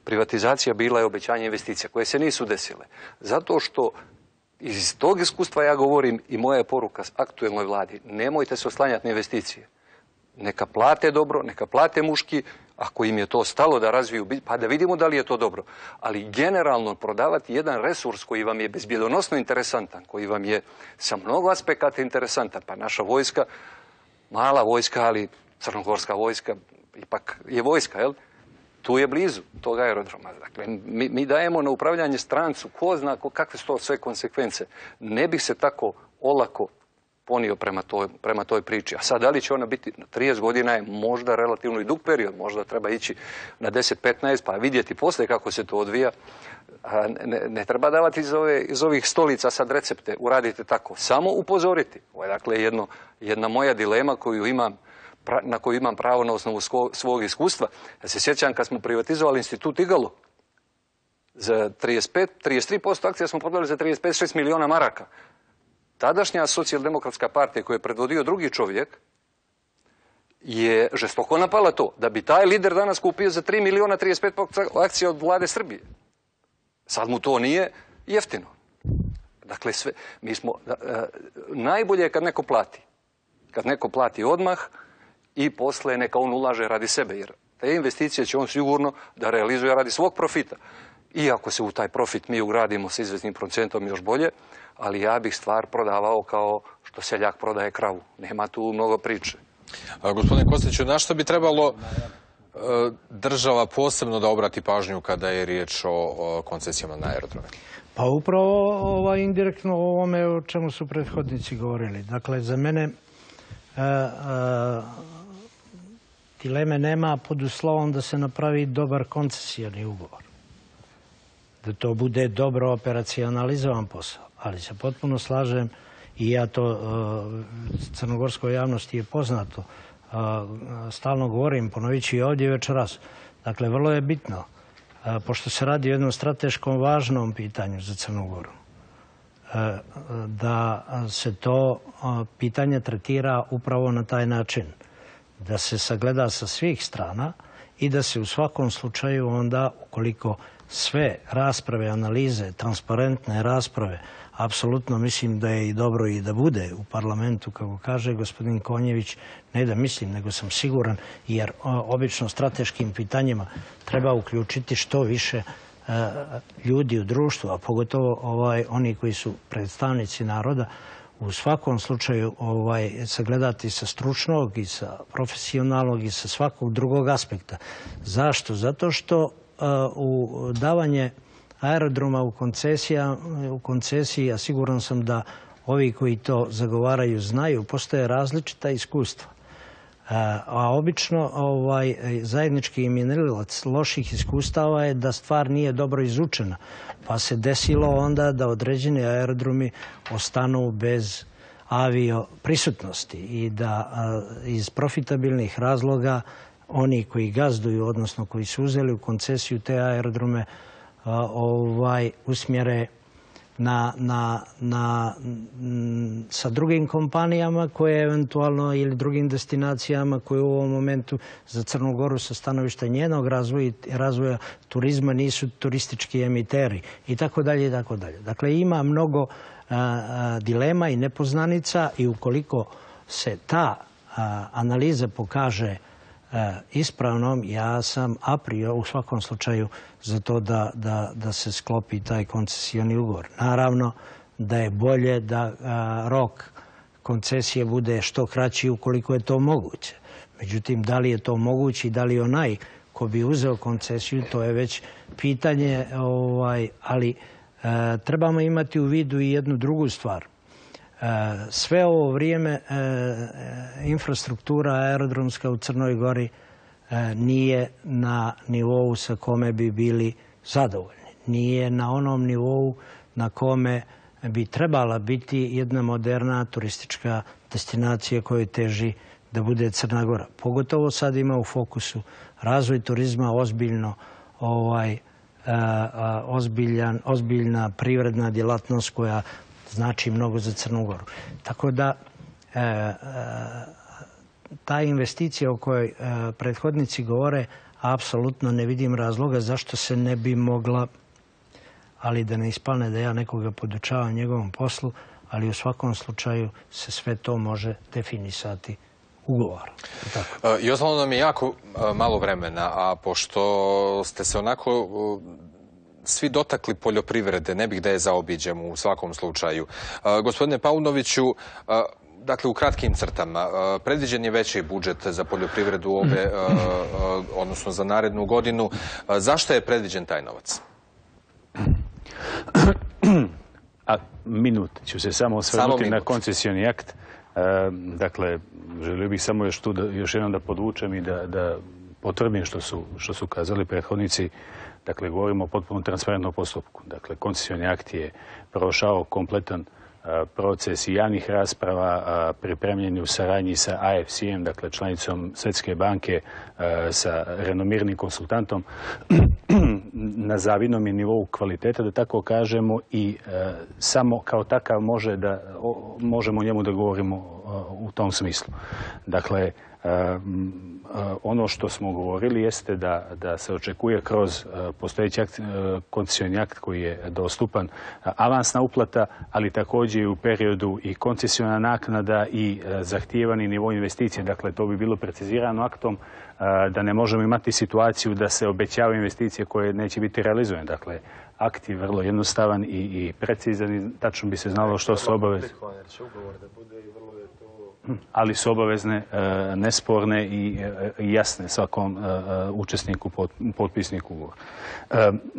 privatizacija bila je obećanje investicija koje se nisu desile. Zato što iz tog iskustva ja govorim i moja je poruka aktuelnoj vladi. Nemojte se oslanjati na investicije. Neka plate dobro, neka plate muški, ako im je to stalo da razviju, pa da vidimo da li je to dobro. Ali generalno prodavati jedan resurs koji vam je bezbjedonosno interesantan, koji vam je sa mnogo aspekata interesantan, pa naša vojska, mala vojska, ali crnogorska vojska, ipak je vojska, jel? Tu je blizu tog aerodroma. Dakle, mi dajemo na upravljanje strancu, ko zna kakve su to sve konsekvence. Ne bih se tako olako ponio prema toj priči. A sad, da li će ona biti 30 godina je možda relativno i dug period, možda treba ići na 10-15, pa vidjeti poslije kako se to odvija. Ne treba davati iz ovih stolica sad recepte, uradite tako. Samo upozoriti. Ovo je dakle jedna moja dilema na koju imam pravo na osnovu svog iskustva. Ja se sjećam kad smo privatizovali institut Igalo. Za 33% akcija smo prodali za 35-6 miliona maraka. Tadašnja socijaldemokratska partija koju je predvodio drugi čovjek je žestoko napala to. Da bi taj lider danas kupio za 3 miliona 35% akcija od vlade Srbije. Sad mu to nije jeftino. Dakle, najbolje je kad neko plati. Kad neko plati odmah i posle neka on ulaže radi sebe. Jer te investicije će on sigurno da realizuje radi svog profita. Iako se u taj profit mi ugradimo sa izvesnim procentom još bolje, ali ja bih stvar prodavao kao što seljak prodaje kravu. Nema tu mnogo priče. Gospodine Kostiću, na što bi trebalo država posebno da obrati pažnju kada je riječ o koncesijama na aerodrome? Pa upravo indirektno o ovome o čemu su prethodnici govorili. Dakle, za mene dileme nema pod uslovom da se napravi dobar koncesijani ugovor. Da to bude dobro operacionalizovan posao. Ali se potpuno slažem i ja to crnogorskoj javnosti je poznato. Stalno govorim, ponovit ću i ovdje večeras. Dakle, vrlo je bitno, pošto se radi o jednom strateškom važnom pitanju za Crnu Goru, da se to pitanje tretira upravo na taj način. Da se sagleda sa svih strana i da se u svakom slučaju onda, ukoliko sve rasprave, analize, transparentne rasprave, apsolutno mislim da je i dobro i da bude u parlamentu, kako kaže gospodin Konjević, ne da mislim, nego sam siguran, jer obično strateškim pitanjima treba uključiti što više ljudi u društvu, a pogotovo oni koji su predstavnici naroda, u svakom slučaju sagledati sa stručnog i sa profesionalnog i sa svakog drugog aspekta. Zašto? Zato što u davanje aerodroma u koncesiji, a siguran sam da ovi koji to zagovaraju znaju, postoje različita iskustva. A obično zajednički imenilac loših iskustava je da stvar nije dobro izučena. Pa se desilo onda da određeni aerodromi ostanu bez avio prisutnosti i da iz profitabilnih razloga oni koji gazduju, odnosno koji su uzeli u koncesiju te aerodrome, usmjere sa drugim kompanijama koje eventualno ili drugim destinacijama koje u ovom momentu za Crnu Goru sa stanovišta njenog razvoja turizma nisu turistički emiteri i tako dalje i tako dalje. Dakle, ima mnogo dilema i nepoznanica i ukoliko se ta analiza pokaže ispravnom, ja sam a priori u svakom slučaju za to da se sklopi taj koncesijoni ugovor. Naravno da je bolje da rok koncesije bude što kraći ukoliko je to moguće. Međutim, da li je to moguće i da li onaj ko bi uzeo koncesiju, to je već pitanje, ali trebamo imati u vidu i jednu drugu stvar. Sve ovo vrijeme infrastruktura aerodromska u Crnoj Gori nije na nivou sa kome bi bili zadovoljni. Nije na onom nivou na kome bi trebala biti jedna moderna turistička destinacija kojoj teži da bude Crna Gora. Pogotovo sad ima u fokusu razvoj turizma, ozbiljna privredna djelatnost koja znači mnogo za Crnu Goru. Tako da ta investicija o kojoj prethodnici govore, apsolutno ne vidim razloga zašto se ne bi mogla, ali da ne ispane da ja nekoga podučavam njegovom poslu, ali u svakom slučaju se sve to može definisati ugovor. I ostalo nam je jako malo vremena, a pošto ste se onako svi dotakli poljoprivrede, ne bih da je zaobiđem u svakom slučaju. Gospodine Paunoviću, dakle, u kratkim crtama, predviđen je veći budžet za poljoprivredu odnosno za narednu godinu. Zašto je predviđen taj novac? Minut ću se samo osvrnuti na koncesioni akt. Dakle, želio bih samo još jednom da podvučem i da potvrdim što su kazali prethodnici. Dakle, govorimo o potpuno transparentnom postupku. Dakle, koncesioni akt je prošao kompletan proces i javnih rasprava, pripremljeni u saradnji sa AFC-em, dakle članicom Svjetske banke, sa renomiranim konsultantom, na zavidnom je nivou kvaliteta, da tako kažemo, i samo kao takav možemo o njemu da govorimo u tom smislu. Dakle, ono što smo govorili jeste da se očekuje kroz postojeći koncesioni akt koji je dostupan avansna uplata, ali također i u periodu i koncesiona naknada i zahtijevani nivo investicije. Dakle, to bi bilo precizirano aktom da ne možemo imati situaciju da se obećavaju investicije koje neće biti realizovane. Dakle, akt je vrlo jednostavan i precizan i tačno bi se znalo što su obaveze. Ali su obavezne, nesporne i jasne svakom učesniku, potpisniku ugovora.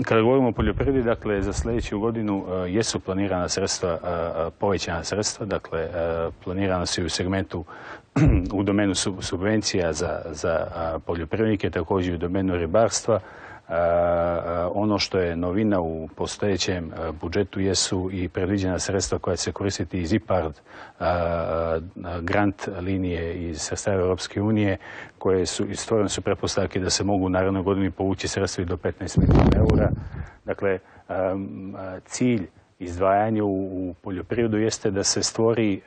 Kada govorimo o poljoprivredi, dakle, za sljedeću godinu jesu planirana sredstva, povećana sredstva, dakle, planirana su i u segmentu u domenu subvencija za poljoprivrednike, također i u domenu ribarstva. Ono što je novina u postojećem budžetu jesu i predviđena sredstva koja će se koristiti iz IPARD grant linije iz sredstava Europske unije, koje su stvorene su pretpostavke da se mogu u narednoj godini povući sredstva i do 15 milijuna eura. Dakle, cilj izdvajanja u poljoprivredu jeste da se stvori,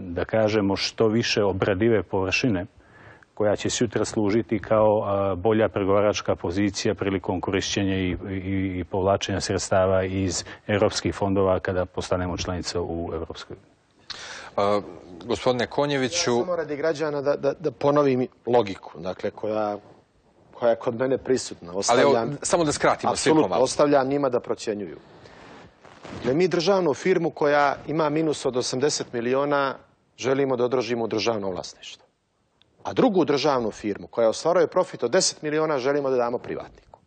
da kažemo, što više obradive površine koja će sutra služiti kao bolja pregovaračka pozicija prilikom korišćenja i povlačenja sredstava iz europskih fondova kada postanemo članica u Europskoj uniji. Gospodine Konjeviću... Samo radi građana da ponovim logiku, dakle, koja je kod mene prisutna. Ali samo da skratimo svi pomalo. Apsolutno, ostavljam njima da procjenjuju. Dakle, mi državnu firmu koja ima minus od 80 miliona želimo da održimo u državno vlasništvo. A drugu državnu firmu koja ostvaruje profit od 10 miliona želimo da damo privatniku.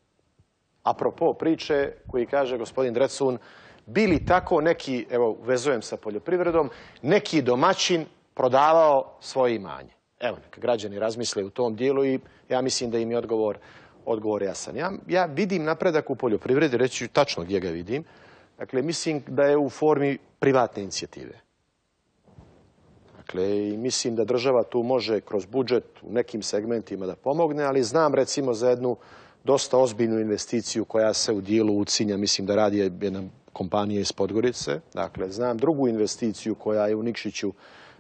Apropo priče koji kaže gospodin Drecun, bili tako neki, evo vezujem sa poljoprivredom, neki domaćin prodavao svoje imanje. Evo, neka građani razmisle u tom dijelu i ja mislim da im je odgovor jasan. Ja vidim napredak u poljoprivredi, reći ću tačno gdje ga vidim. Dakle, mislim da je u formi privatne inicijative. Dakle, i mislim da država tu može kroz budžet u nekim segmentima da pomogne, ali znam recimo za jednu dosta ozbiljnu investiciju koja se u dijelu Ucinja, mislim da radi jedna kompanija iz Podgorice. Dakle, znam drugu investiciju koja je u Nikšiću,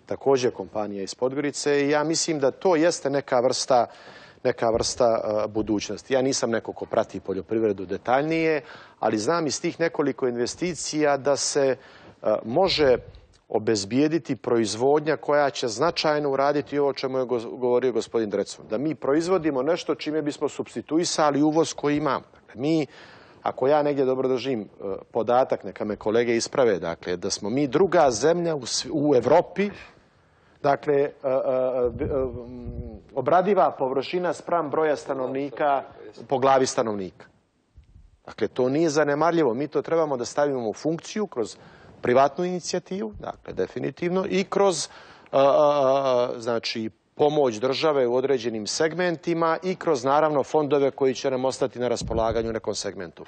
također kompanija iz Podgorice, i ja mislim da to jeste neka vrsta budućnosti. Ja nisam neko ko prati poljoprivredu detaljnije, ali znam iz tih nekoliko investicija da se može obezbijediti proizvodnja koja će značajno uraditi ovo o čemu je govorio gospodin Drecun. Da mi proizvodimo nešto čime bismo supstituisali uvoz koji imamo. Dakle, mi, ako ja negdje dobro držim podatak, neka me kolege isprave, dakle, da smo mi druga zemlja u Evropi, dakle, obradiva površina spram broja stanovnika po glavi stanovnika. Dakle, to nije zanemarljivo. Mi to trebamo da stavimo u funkciju kroz privatnu inicijativu, dakle definitivno, i kroz znači pomoć države u određenim segmentima i kroz naravno fondove koji će nam ostati na raspolaganju u nekom segmentu.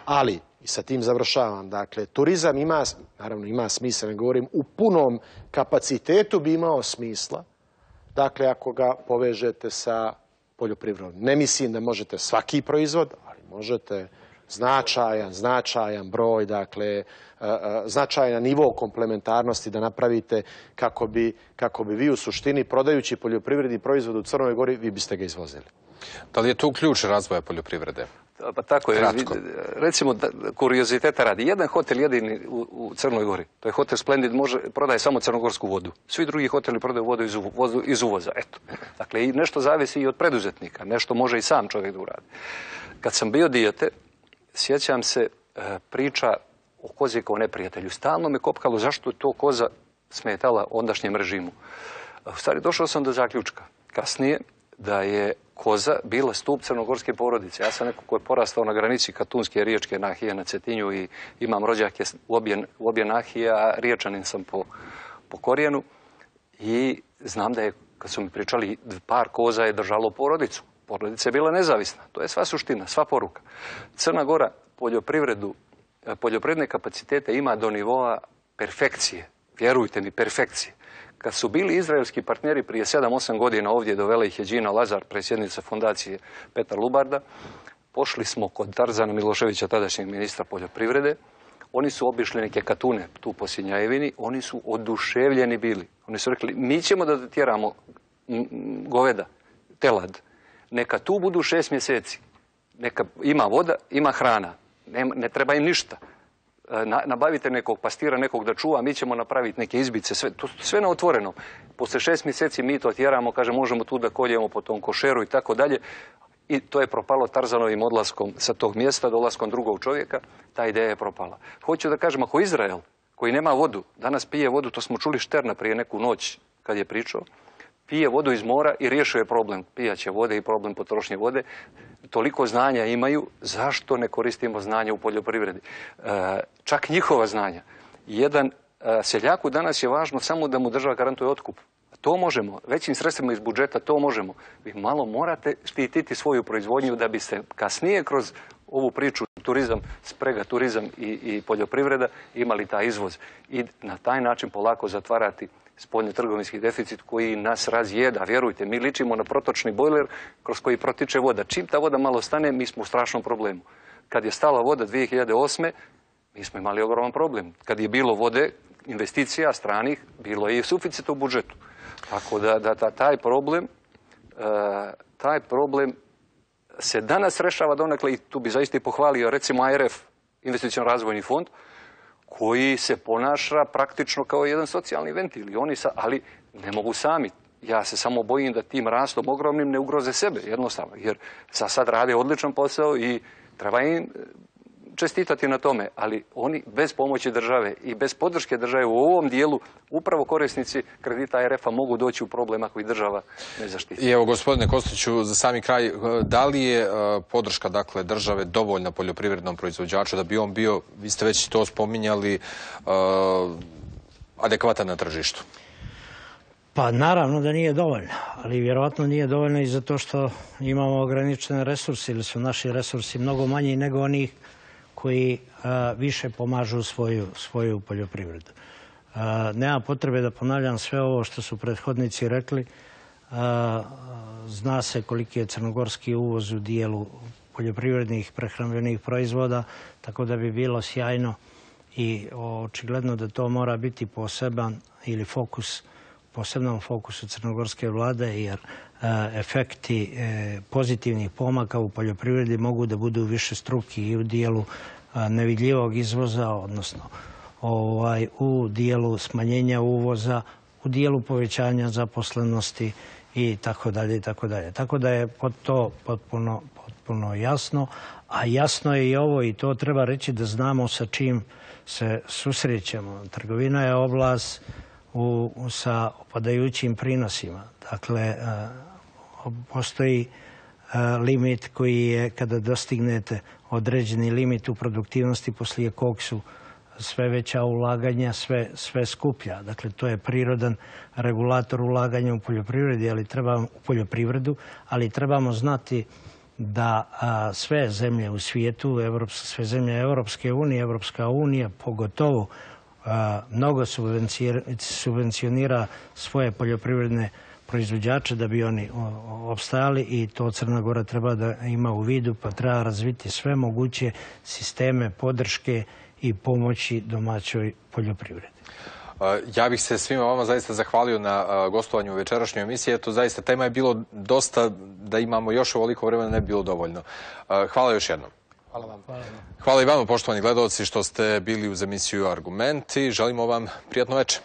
Ali, i sa tim završavam, dakle, turizam ima, naravno ima smisla, ne govorim, u punom kapacitetu bi imao smisla, dakle, ako ga povežete sa poljoprivredom. Ne mislim da možete svaki proizvod, ali možete značajan broj, dakle, značajan nivo komplementarnosti da napravite kako bi vi u suštini, prodajući poljoprivredni proizvod u Crnoj Gori, vi biste ga izvozili. Da li je tu ključ razvoja poljoprivrede? Pa tako je. Recimo, kurioziteta radi. Jedan hotel jedini u Crnoj Gori, to je hotel Splendid, prodaje samo crnogorsku vodu. Svi drugi hoteli prodaju vodu iz uvoza. Eto. Dakle, i nešto zavisi i od preduzetnika. Nešto može i sam čovjek da uradi. Kad sam bio dijete, sjećam se priča o kozi kao neprijatelju. Stalno me kopkalo zašto je to koza smetala ondašnjem režimu. U stvari, došao sam do zaključka kasnije da je koza bila stup crnogorske porodice. Ja sam neko ko je porastao na granici Katunske i Riječke nahije na Cetinju i imam rođake u obje nahije, a Riječanin sam po korijenu. I znam da je, kad su mi pričali, par koza je držalo porodicu. Porodica je bila nezavisna. To je sva suština, sva poruka. Crna Gora poljoprivredne kapacitete ima do nivoa perfekcije. Vjerujte mi, perfekcije. Kad su bili izraelski partneri prije 7-8 godina ovdje, dovela ih je Đina Lazar, predsjednica fondacije Petar Lubarda, pošli smo kod Tarzana Miloševića, tadašnjeg ministra poljoprivrede. Oni su obišli neke katune tu po Sinjajevini, oni su oduševljeni bili. Oni su rekli, mi ćemo da tjeramo goveda, telad, neka tu budu 6 mjeseci, neka ima voda, ima hrana, ne treba im ništa. Nabavite nekog pastira, nekog da čuva, mi ćemo napraviti neke izbice, sve na otvoreno. Posle 6 mjeseci mi to tjeramo, kaže, možemo tu da koljemo po tom košeru i tako dalje. I to je propalo Tarzanovim odlaskom sa tog mjesta, dolaskom drugog čovjeka, ta ideja je propala. Hoću da kažem, ako Izrael, koji nema vodu, danas pije vodu, to smo čuli Šterna prije neku noć kad je pričao, pije vodu iz mora i riješuje problem pijaće vode i problem potrošnje vode. Toliko znanja imaju, zašto ne koristimo znanja u poljoprivredi? Čak njihova znanja. Jedan seljaku danas je važno samo da mu država garantuje otkup. To možemo, većim sredstvima iz budžeta to možemo. Vi malo morate štititi svoju proizvodnju da biste kasnije kroz ovu priču turizam, sprega turizam i poljoprivreda imali taj izvoz. I na taj način polako zatvarati spoljno-trgovinski deficit koji nas razjeda. Vjerujte, mi ličimo na protočni bojler kroz koji protiče voda. Čim ta voda malo stane, mi smo u strašnom problemu. Kad je stala voda 2008. mi smo imali ogroman problem. Kad je bilo vode, investicija stranih, bilo je i suficit u budžetu. Tako da taj problem se danas rešava donekle i tu bi zaista i pohvalio recimo ARF, investicijalno razvojni fond, koji se ponaša praktično kao jedan socijalni ventil. Ali ne mogu sami. Ja se samo bojim da tim rastom ogromnim ne ugroze sebe, jednostavno. Jer sad rade odličan posao i treba im čestitati na tome. Ali oni bez pomoći države i bez podrške države u ovom dijelu, upravo korisnici kredita ARF-a mogu doći u problem ako ih država ne zaštiti. I evo, gospodine Kostiću, za sami kraj, da li je podrška države dovoljna poljoprivrednom proizvođaču da bi on bio, vi ste već to spominjali, adekvatan na tržištu? Pa naravno da nije dovoljno, ali vjerovatno nije dovoljno i zato što imamo ograničene resurse ili su naši resursi mnogo manji nego onih koji više pomažu svoju poljoprivredu. Nema potrebe da ponavljam sve ovo što su prethodnici rekli. Zna se koliki je crnogorski uvoz u dijelu poljoprivrednih prehrambenih proizvoda, tako da bi bilo sjajno i očigledno da to mora biti poseban ili posebnom fokusu crnogorske vlade, jer efekti pozitivnih pomaka u poljoprivredi mogu da budu višestruki i u dijelu nevidljivog izvoza, odnosno u dijelu smanjenja uvoza, u dijelu povećanja zaposlenosti i tako dalje i tako dalje. Tako da je to potpuno jasno, a jasno je i ovo i to treba reći da znamo sa čim se susrećemo. Trgovina je oblast sa opadajućim prinosima. Dakle, postoji limit koji je kada dostignete određeni limit u produktivnosti poslije kog su sve veća ulaganja, sve skuplja. Dakle, to je prirodan regulator ulaganja u poljoprivredu, ali trebamo znati da sve zemlje u svijetu, sve zemlje Europske unije, Europska unija pogotovo mnogo subvencionira svoje poljoprivredne proizvođače da bi oni opstajali i to Crna Gora treba da ima u vidu, pa treba razviti sve moguće sisteme podrške i pomoći domaćoj poljoprivredi. Ja bih se svima vama zaista zahvalio na gostovanju u večerašnjoj emisiji. Eto, zaista, tema je bilo dosta, da imamo još ovoliko vremena ne bi bilo dovoljno. Hvala još jednom. Hvala vam. Hvala i vama, poštovani gledalci, što ste bili uz emisiju Argumenti. Želimo vam prijatno večer.